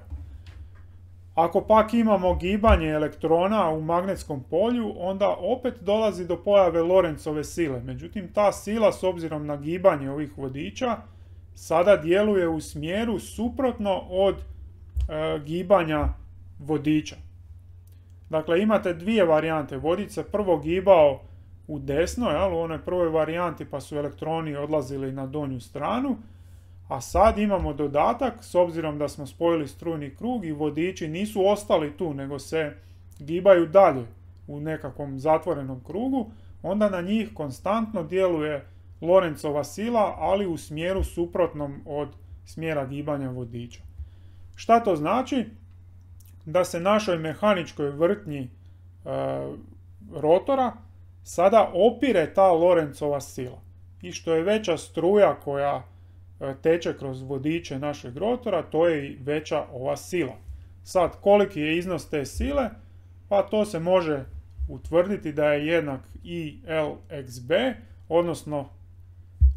Ako pak imamo gibanje elektrona u magnetskom polju, onda opet dolazi do pojave Lorenzove sile. Međutim, ta sila, s obzirom na gibanje ovih vodiča, sada djeluje u smjeru suprotno od gibanja vodiča. Dakle, imate dvije varijante. Vodič se prvo gibao u desno, u onoj prvoj varijanti, pa su elektroni odlazili na donju stranu, a sad imamo dodatak, s obzirom da smo spojili strujni krug i vodiči nisu ostali tu, nego se gibaju dalje u nekakvom zatvorenom krugu, onda na njih konstantno djeluje Lorenzova sila, ali u smjeru suprotnom od smjera gibanja vodiča. Šta to znači? Da se našoj mehaničkoj vrtnji rotora sada opire ta Lorenzova sila. I što je veća struja koja teče kroz vodiče našeg rotora, to je i veća ova sila. Sad, koliki je iznos te sile? Pa to se može utvrditi da je jednak IL/B, odnosno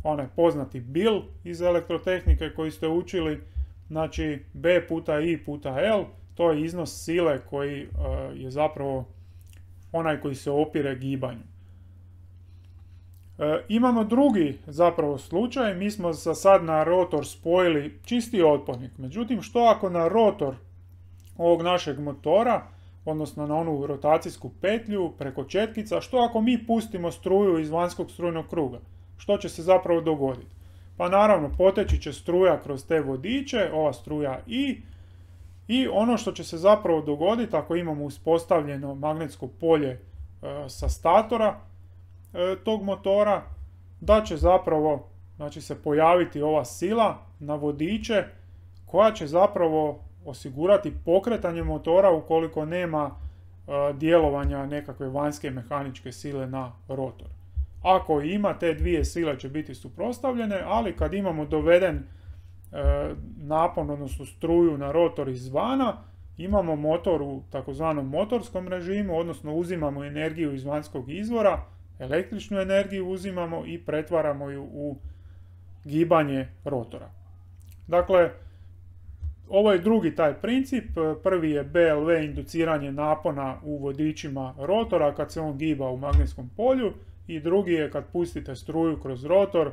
onaj poznati bil iz elektrotehnike koji ste učili, znači B puta I puta L, to je iznos sile koji je zapravo onaj koji se opire gibanju. Imamo drugi zapravo slučaj, mi smo sad na rotor spojili čisti otpornik. Međutim, što ako na rotor ovog našeg motora, odnosno na onu rotacijsku petlju preko četkica, što ako mi pustimo struju iz vanjskog strujnog kruga? Što će se zapravo dogoditi? Pa naravno, poteći će struja kroz te vodiče, ova struja I ono što će se zapravo dogoditi ako imamo uspostavljeno magnetsko polje sa statora tog motora, da će zapravo se pojaviti ova sila na vodiče koja će zapravo osigurati pokretanje motora ukoliko nema djelovanja nekakve vanjske mehaničke sile na rotor. Ako ima, te dvije sile će biti suprotstavljene, ali kad imamo doveden napon, odnosno struju na rotor izvana, imamo motor u takozvanom motorskom režimu, odnosno uzimamo energiju iz vanjskog izvora, električnu energiju uzimamo i pretvaramo ju u gibanje rotora. Dakle, ovo je drugi taj princip. Prvi je BLV, induciranje napona u vodičima rotora kad se on giba u magnetskom polju, i drugi je kad pustite struju kroz rotor,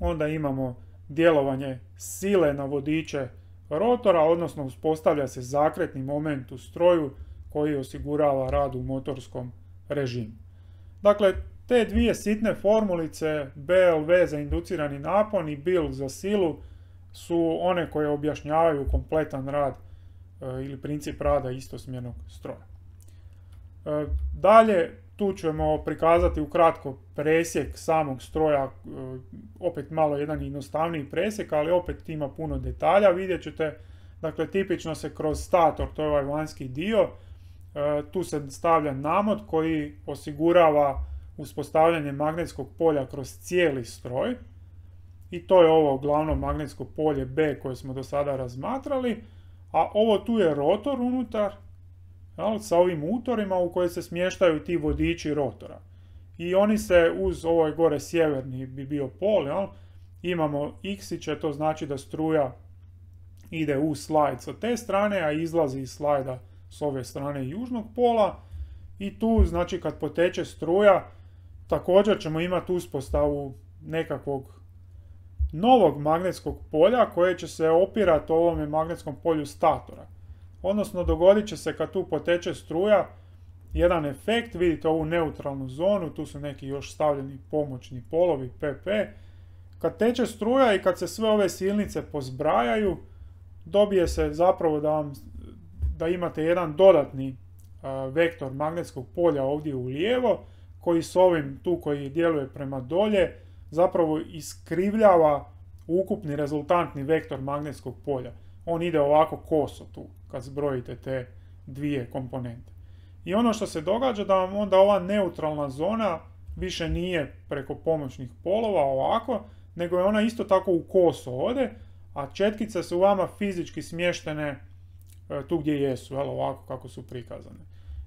onda imamo djelovanje sile na vodiče rotora, odnosno uspostavlja se zakretni moment u stroju koji osigurava rad u motorskom režimu. Dakle, te dvije sitne formulice, BLV za inducirani napon i BIL za silu, su one koje objašnjavaju kompletan rad ili princip rada istosmjernog stroja. Dalje, tu ćemo prikazati ukratko presjek samog stroja, opet malo jedan jednostavniji presjek, ali opet ima puno detalja, vidjet ćete. Dakle, tipično se kroz stator, to je ovaj vanjski dio, tu se stavlja namod koji osigurava uspostavljanje magnetskog polja kroz cijeli stroj, i to je ovo glavno magnetsko polje B koje smo do sada razmatrali, a ovo tu je rotor unutar, sa ovim utorima u koje se smještaju ti vodiči rotora. I oni se uz ovaj gore sjeverni bi bio pol, imamo X-iće, to znači da struja ide u slajd sa te strane, a izlazi iz slajda s ove strane južnog pola, i tu znači kad poteče struja također ćemo imati uspostavu nekakvog novog magnetskog polja koje će se opirati ovome magnetskom polju statora. Odnosno, dogodit će se kad tu poteče struja jedan efekt, vidite ovu neutralnu zonu, tu su neki još stavljeni pomoćni polovi, PP. Kad teče struja i kad se sve ove silnice pozbrajaju, dobije se zapravo da imate jedan dodatni vektor magnetskog polja ovdje u lijevo, koji s ovim tu koji djeluje prema dolje, zapravo iskrivljava ukupni rezultantni vektor magnetskog polja. On ide ovako koso tu, kad zbrojite te dvije komponente. I ono što se događa da vam onda ova neutralna zona više nije preko pomoćnih polova ovako, nego je ona isto tako u koso ode, a četkice su vama fizički smještene tu gdje jesu, ovako kako su prikazane.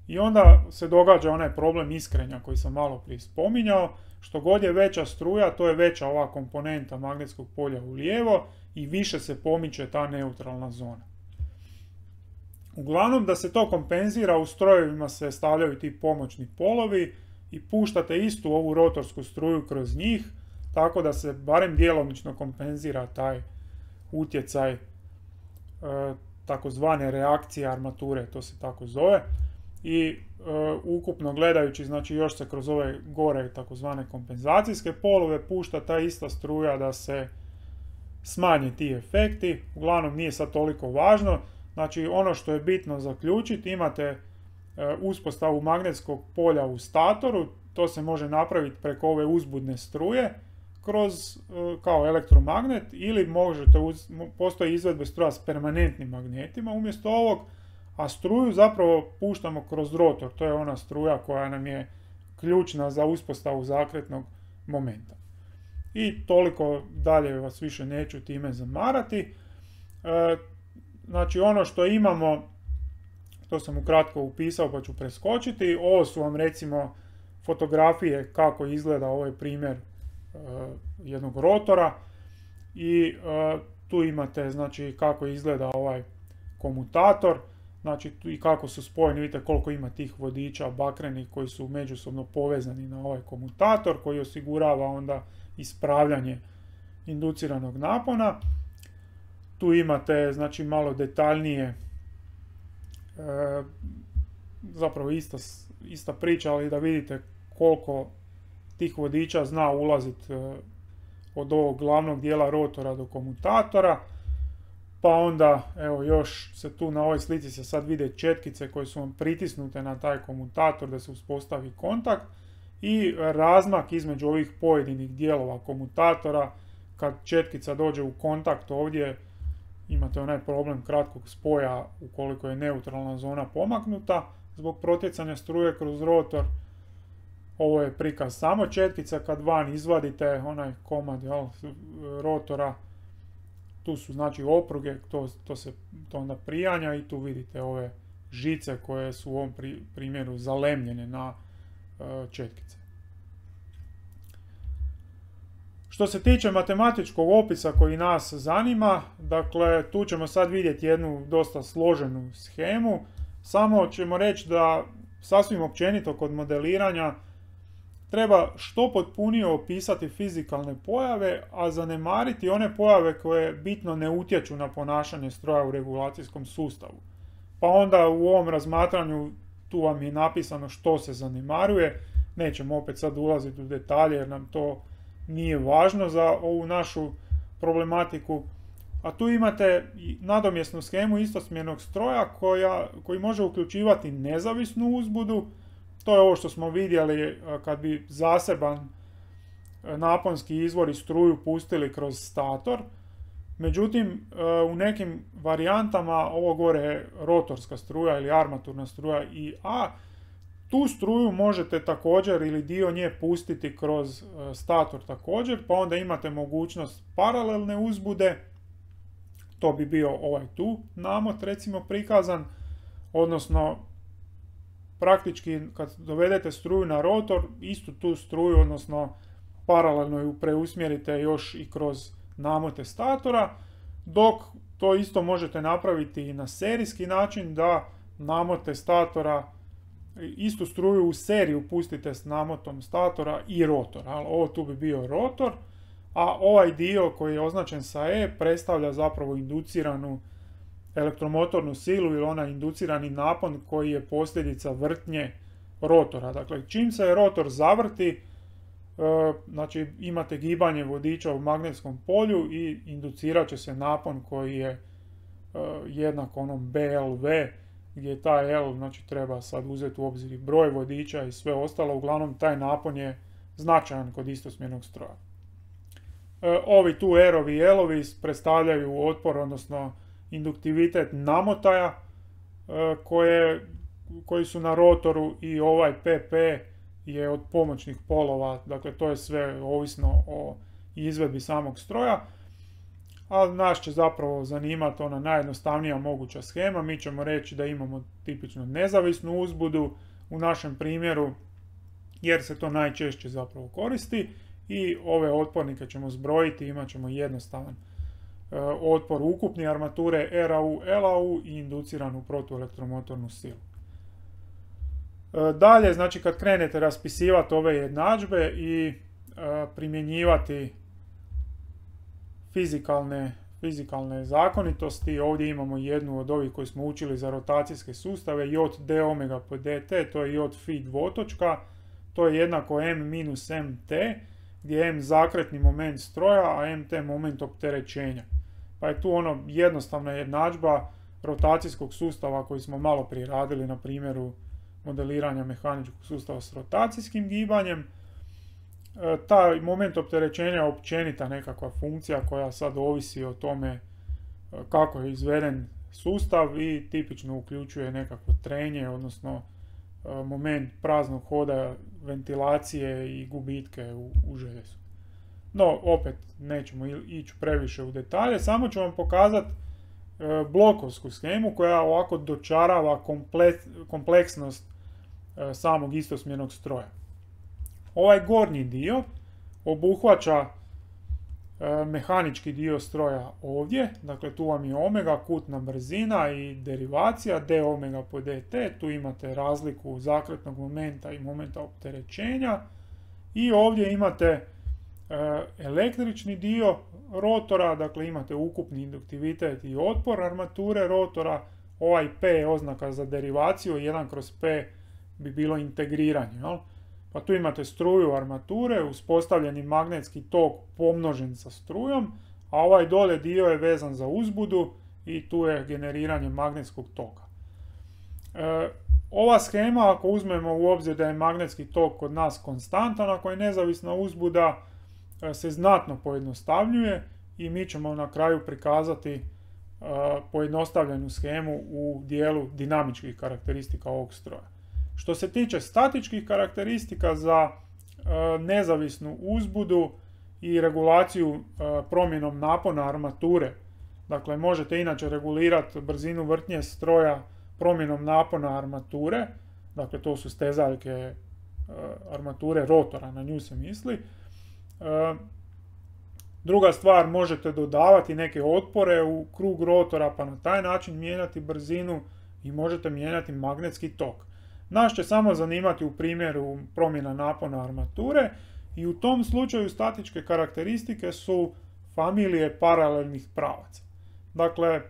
I onda se događa onaj problem iskrenja koji sam malo prije spominjao, što god je veća struja, to je veća ova komponenta magnetskog polja u lijevo i više se pomiče ta neutralna zona. Uglavnom, da se to kompenzira, u strojevima se stavljaju ti pomoćni polovi i puštate istu ovu rotorsku struju kroz njih, tako da se barem djelomično kompenzira taj utjecaj takozvane reakcije armature, to se tako zove. I ukupno gledajući, znači još se kroz ove gore takozvane kompenzacijske polove pušta ta ista struja da se smanje ti efekti. Uglavnom nije sad toliko važno. Znači ono što je bitno zaključiti, imate uspostavu magnetskog polja u statoru, to se može napraviti preko ove uzbudne struje kroz kao elektromagnet, ili postoji izvedbe struja s permanentnim magnetima umjesto ovog, a struju zapravo puštamo kroz rotor, to je ona struja koja nam je ključna za uspostavu zakretnog momenta. I toliko dalje vas više neću time zamarati. Znači ono što imamo, to sam ukratko upisao pa ću preskočiti, ovo su vam recimo fotografije kako izgleda ovaj primjer jednog rotora i tu imate znači kako izgleda ovaj komutator, znači i kako su spojeni, vidite koliko ima tih vodiča bakrenih koji su međusobno povezani na ovaj komutator koji osigurava onda ispravljanje induciranog napona. Tu imate znači malo detaljnije, zapravo ista priča, ali da vidite koliko tih vodiča zna ulaziti od ovog glavnog dijela rotora do komutatora. Pa onda, evo još se tu na ovoj slici se sad vide četkice koje su vam pritisnute na taj komutator da se uspostavi kontakt i razmak između ovih pojedinih dijelova komutatora. Kad četkica dođe u kontakt ovdje, imate onaj problem kratkog spoja ukoliko je neutralna zona pomaknuta zbog protjecanja struje kroz rotor. Ovo je prikaz samo četkica, kad van izvadite onaj komad rotora, tu su znači opruge, to onda prijanja i tu vidite ove žice koje su u ovom primjeru zalemljene na četkice. Što se tiče matematičkog opisa koji nas zanima, dakle tu ćemo sad vidjeti jednu dosta složenu shemu, samo ćemo reći da sasvim općenito kod modeliranja treba što potpunije opisati fizikalne pojave, a zanemariti one pojave koje bitno ne utječu na ponašanje stroja u regulacijskom sustavu. Pa onda u ovom razmatranju tu vam je napisano što se zanemaruje, nećemo opet sad ulaziti u detalje jer nam to nije važno za ovu našu problematiku. A tu imate nadomjesnu shemu istosmjernog stroja koji može uključivati nezavisnu uzbudu. To je ovo što smo vidjeli kad bi zaseban naponski izvor i struju pustili kroz stator. Međutim, u nekim varijantama ovo gore je rotorska struja ili armaturna struja IA. Tu struju možete također ili dio nje pustiti kroz stator također, pa onda imate mogućnost paralelne uzbude. To bi bio ovaj tu namot recimo prikazan, odnosno praktički kad dovedete struju na rotor, istu tu struju, odnosno paralelno ju preusmjerite još i kroz namote statora, dok to isto možete napraviti i na serijski način da namote statora, istu struju u seriju pustite s namotom statora i rotora. Ovo tu bi bio rotor, a ovaj dio koji je označen sa E predstavlja zapravo induciranu elektromotornu silu ili onaj inducirani napon koji je posljedica vrtnje rotora. Dakle, čim se rotor zavrti, znači imate gibanje vodiča u magnetskom polju i inducirat će se napon koji je jednak onom BLV, gdje taj L znači, treba sad uzeti u obzir broj vodiča i sve ostalo. Uglavnom, taj napon je značajan kod istosmjernog stroja. Ovi tu R-ovi i L-ovi predstavljaju otpor, odnosno induktivitet namotaja koji su na rotoru i ovaj PP je od pomoćnih polova, dakle to je sve ovisno o izvedbi samog stroja. ali nas će zapravo zanimati ona najjednostavnija moguća shema. Mi ćemo reći da imamo tipično nezavisnu uzbudu u našem primjeru, jer se to najčešće zapravo koristi, i ove otpornike ćemo zbrojiti, imat ćemo jednostavan otpor ukupni armature RAU, LAU i induciranu protuelektromotornu silu. Dalje, znači kad krenete raspisivati ove jednadžbe i primjenjivati fizikalne zakonitosti, ovdje imamo jednu od ovih koji smo učili za rotacijske sustave, J d omega po dt, to je J phi dvotočka, to je jednako m minus mt, gdje je m zakretni moment stroja, a mt moment opterećenja. Pa je tu ono jednostavna jednadžba rotacijskog sustava koji smo malo prije radili na primjeru modeliranja mehaničkog sustava s rotacijskim gibanjem. Taj moment opterećenja je općenita nekakva funkcija koja sad ovisi o tome kako je izveden sustav i tipično uključuje nekakvo trenje, odnosno moment praznog hoda, ventilacije i gubitke u željezu. No, opet nećemo ići previše u detalje, samo ću vam pokazati blokovsku shemu koja ovako dočarava kompleksnost samog istosmjernog stroja. Ovaj gornji dio obuhvaća mehanički dio stroja ovdje, dakle tu vam je omega, kutna brzina i derivacija d omega po dt, tu imate razliku zakretnog momenta i momenta opterećenja, i ovdje imate električni dio rotora, dakle imate ukupni induktivitet i otpor armature rotora, ovaj P je oznaka za derivaciju, 1/P bi bilo integriranje, jel? Pa tu imate struju armature, uspostavljeni magnetski tok pomnožen sa strujom, a ovaj dole dio je vezan za uzbudu i tu je generiranje magnetskog toka. Ova shema, ako uzmemo u obzir da je magnetski tok kod nas konstantan, ako je nezavisna uzbuda, se znatno pojednostavljuje i mi ćemo na kraju prikazati pojednostavljenu shemu u dijelu dinamičkih karakteristika ovog stroja. Što se tiče statičkih karakteristika za nezavisnu uzbudu i regulaciju promjenom napona armature, dakle možete inače regulirati brzinu vrtnje stroja promjenom napona armature, dakle to su stezaljke armature rotora, na nju se misli. Druga stvar, možete dodavati neke otpore u krug rotora pa na taj način mijenjati brzinu i možete mijenjati magnetski tok. Nas će samo zanimati u primjeru promjena napona armature i u tom slučaju statičke karakteristike su familije paralelnih pravaca. Dakle,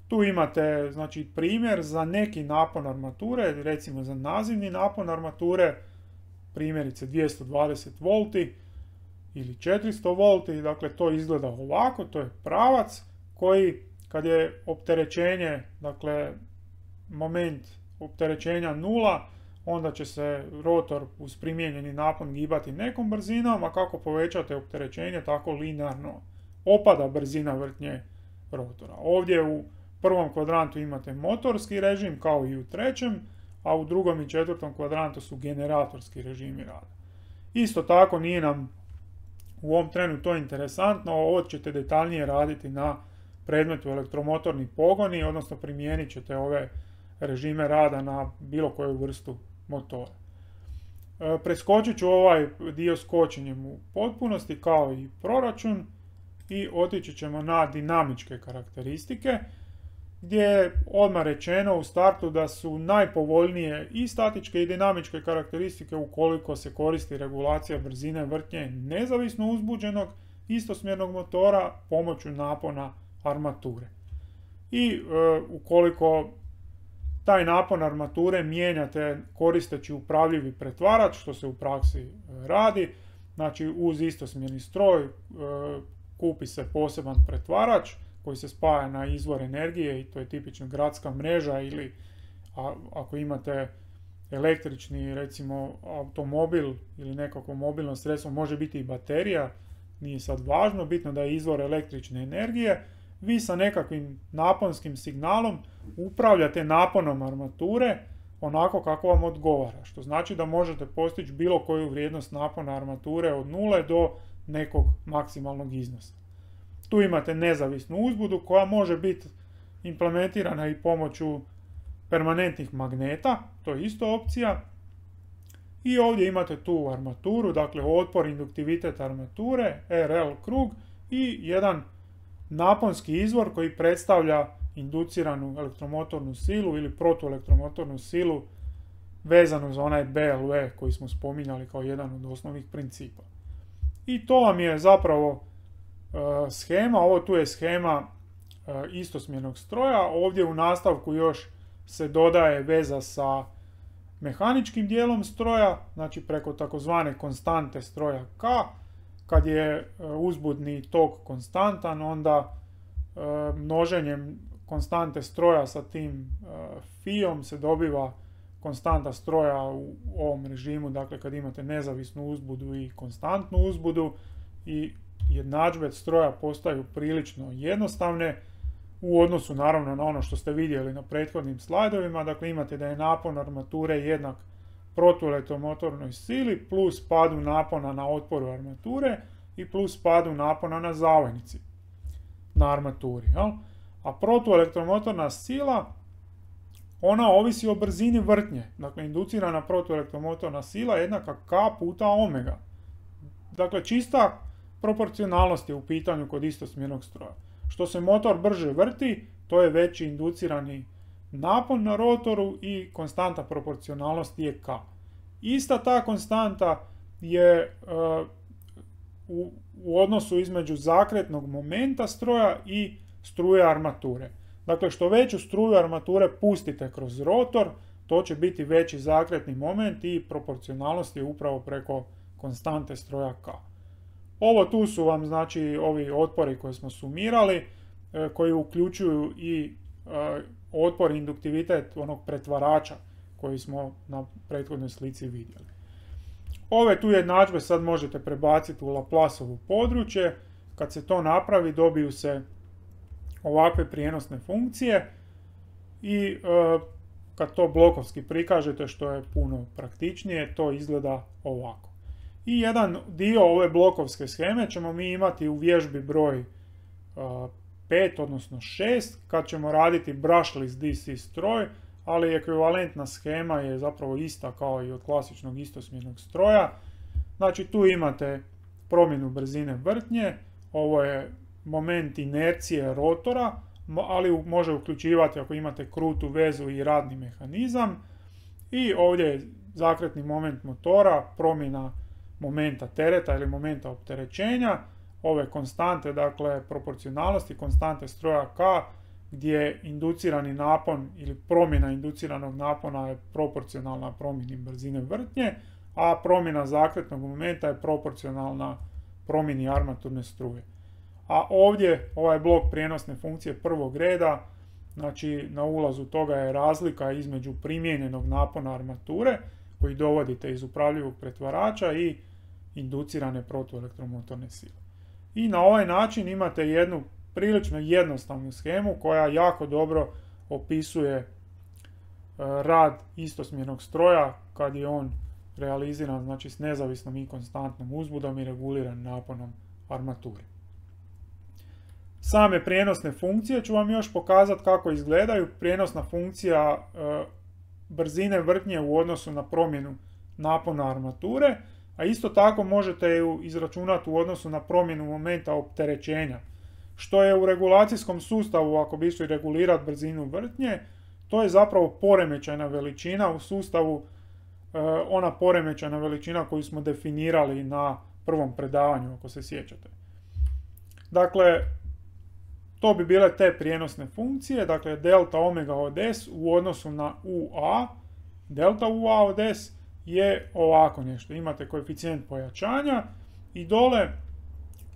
tu imate znači, primjer za neki napon armature, recimo za nazivni napon armature, primjerice 220 volti ili 400 volti, dakle to izgleda ovako, to je pravac koji kad je opterećenje, dakle moment opterećenja 0, onda će se rotor uz primijenjeni napon gibati nekom brzinom, a kako povećate opterećenje, tako linearno opada brzina vrtnje rotora. Ovdje u prvom kvadrantu imate motorski režim kao i u trećem, a u drugom i četvrtom kvadrantu su generatorski režimi rada. Isto tako nije nam u ovom trenu to interesantno, ovo ćete detaljnije raditi na predmetu elektromotorni pogoni, odnosno primijenit ćete ove režime rada na bilo koju vrstu motora. Preskočit ću ovaj dio s kočenjem u potpunosti kao i proračun i otići ćemo na dinamičke karakteristike, gdje je odmah rečeno u startu da su najpovoljnije i statičke i dinamičke karakteristike ukoliko se koristi regulacija brzine vrtnje nezavisno uzbuđenog istosmjernog motora pomoću napona armature. I ukoliko taj napon armature mijenjate koristeći upravljivi pretvarač, što se u praksi radi, znači uz istosmjerni stroj kupi se poseban pretvarač koji se spaja na izvor energije i to je tipično gradska mreža ili ako imate električni recimo automobil ili nekako mobilno sredstvo, može biti i baterija, nije sad važno, bitno da je izvor električne energije. Vi sa nekakvim naponskim signalom upravljate naponom armature onako kako vam odgovara, što znači da možete postići bilo koju vrijednost napona armature od 0 do nekog maksimalnog iznosa. Tu imate nezavisnu uzbudu koja može biti implementirana i pomoću permanentnih magneta, to je isto opcija. I ovdje imate tu armaturu, dakle otpor, induktivitet armature, RL krug i jedan naponski izvor koji predstavlja induciranu elektromotornu silu ili protuelektromotornu silu vezanu za onaj BLV koji smo spominjali kao jedan od osnovnih principa. I to vam je zapravo shema, ovo tu je shema istosmjernog stroja, ovdje u nastavku još se dodaje veza sa mehaničkim dijelom stroja, znači preko takozvane konstante stroja K. Kad je uzbudni tok konstantan, onda množenjem konstante stroja sa tim fiom se dobiva konstanta stroja u ovom režimu, dakle kad imate nezavisnu uzbudu i konstantnu uzbudu, i jednadžbe stroja postaju prilično jednostavne u odnosu naravno na ono što ste vidjeli na prethodnim slajdovima. Dakle imate da je napon armature jednak protuelektromotornoj sili plus padu napona na otporu armature i plus padu napona na zavojnici na armaturi. A protuelektromotorna sila, ona ovisi o brzini vrtnje. Dakle, inducirana protuelektromotorna sila je jednaka K puta omega. Dakle, čista proporcionalnost je u pitanju kod istosmjernog stroja. Što se motor brže vrti, to je veći inducirani napon na rotoru i konstanta proporcionalnosti je K. Ista ta konstanta je u odnosu između zakretnog momenta stroja i struje armature. Dakle, što veću struju armature pustite kroz rotor, to će biti veći zakretni moment i proporcionalnost je upravo preko konstante stroja K. Ovo tu su vam znači ovi otpori koje smo sumirali, koji uključuju i otpor induktivitet onog pretvarača koji smo na prethodnoj slici vidjeli. Ove tu jednadžbe sad možete prebaciti u Laplaceovo područje. Kad se to napravi, dobiju se ovakve prijenosne funkcije i kad to blokovski prikažete, što je puno praktičnije, to izgleda ovako. I jedan dio ove blokovske sheme ćemo mi imati u vježbi broj 5, odnosno 6, kad ćemo raditi brushless DC stroj, ali ekvivalentna shema je zapravo ista kao i od klasičnog istosmjernog stroja. Znači tu imate promjenu brzine vrtnje, ovo je moment inercije rotora, ali može uključivati ako imate krutu vezu i radni mehanizam. I ovdje je zakretni moment motora, promjena momenta tereta ili momenta opterećenja, ove konstante, dakle proporcionalnosti, konstante stroja K, gdje inducirani napon ili promjena induciranog napona je proporcionalna promjeni brzine vrtnje, a promjena zakretnog momenta je proporcionalna promjeni armaturne struje. A ovdje ovaj blok prijenosne funkcije prvog reda, znači na ulazu toga je razlika između primijenjenog napona armature koji dovodite iz upravljivog pretvarača i inducirane protuelektromotorne sile. I na ovaj način imate jednu prilično jednostavnu shemu koja jako dobro opisuje rad istosmjernog stroja kad je on realiziran, znači s nezavisnom i konstantnom uzbudom i reguliran naponom armature. Same prijenosne funkcije ću vam još pokazati kako izgledaju. Prijenosna funkcija brzine vrtnje u odnosu na promjenu napona armature, a isto tako možete ju izračunati u odnosu na promjenu momenta opterećenja. Što je u regulacijskom sustavu, ako bi išli regulirati brzinu vrtnje, to je zapravo poremećajna veličina u sustavu, ona poremećajna veličina koju smo definirali na prvom predavanju, ako se sjećate. Dakle, to bi bile te prijenosne funkcije, dakle delta omega od S u odnosu na UA, delta UA od S je ovako nešto. Imate koeficijent pojačanja i dole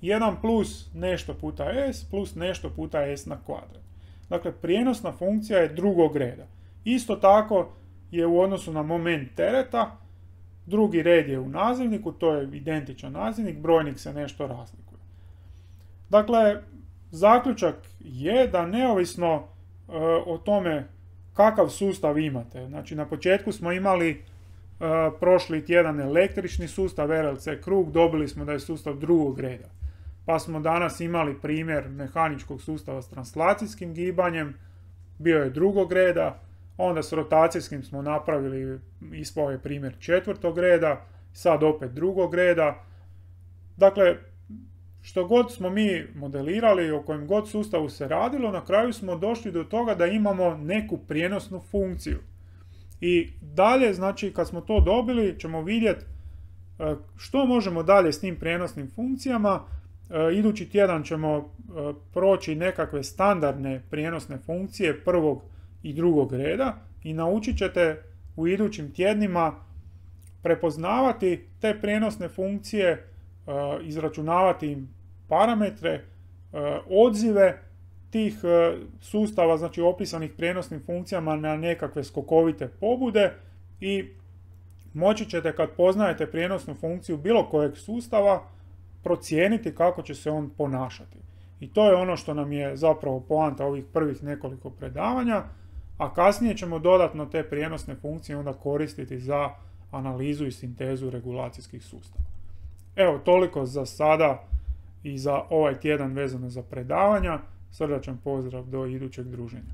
1 plus nešto puta S plus nešto puta S na kvadrat. Dakle, prijenosna funkcija je drugog reda. Isto tako je u odnosu na moment tereta, drugi red je u nazivniku, to je identičan nazivnik, brojnik se nešto razlikuje. Dakle, zaključak je da neovisno o tome kakav sustav imate, znači na početku smo imali prošli tjedan električni sustav RLC krug, dobili smo da je sustav drugog reda. pa smo danas imali primjer mehaničkog sustava s translacijskim gibanjem, bio je drugog reda, onda s rotacijskim smo napravili, ispao je primjer četvrtog reda, sad opet drugog reda. Dakle, što god smo mi modelirali, o kojem god sustavu se radilo, na kraju smo došli do toga da imamo neku prijenosnu funkciju. I dalje, znači, kad smo to dobili, ćemo vidjeti što možemo dalje s tim prijenosnim funkcijama. Idući tjedan ćemo proći nekakve standardne prijenosne funkcije prvog i drugog reda i naučit ćete u idućim tjednima prepoznavati te prijenosne funkcije, izračunavati im parametre, odzive tih sustava, znači opisanih prijenosnim funkcijama na nekakve skokovite pobude i moći ćete, kad poznajete prijenosnu funkciju bilo kojeg sustava, procijeniti kako će se on ponašati. I to je ono što nam je zapravo poanta ovih prvih nekoliko predavanja, a kasnije ćemo dodatno te prijenosne funkcije onda koristiti za analizu i sintezu regulacijskih sustava. Evo, toliko za sada i za ovaj tjedan vezano za predavanja. Srdačan pozdrav do idućeg druženja.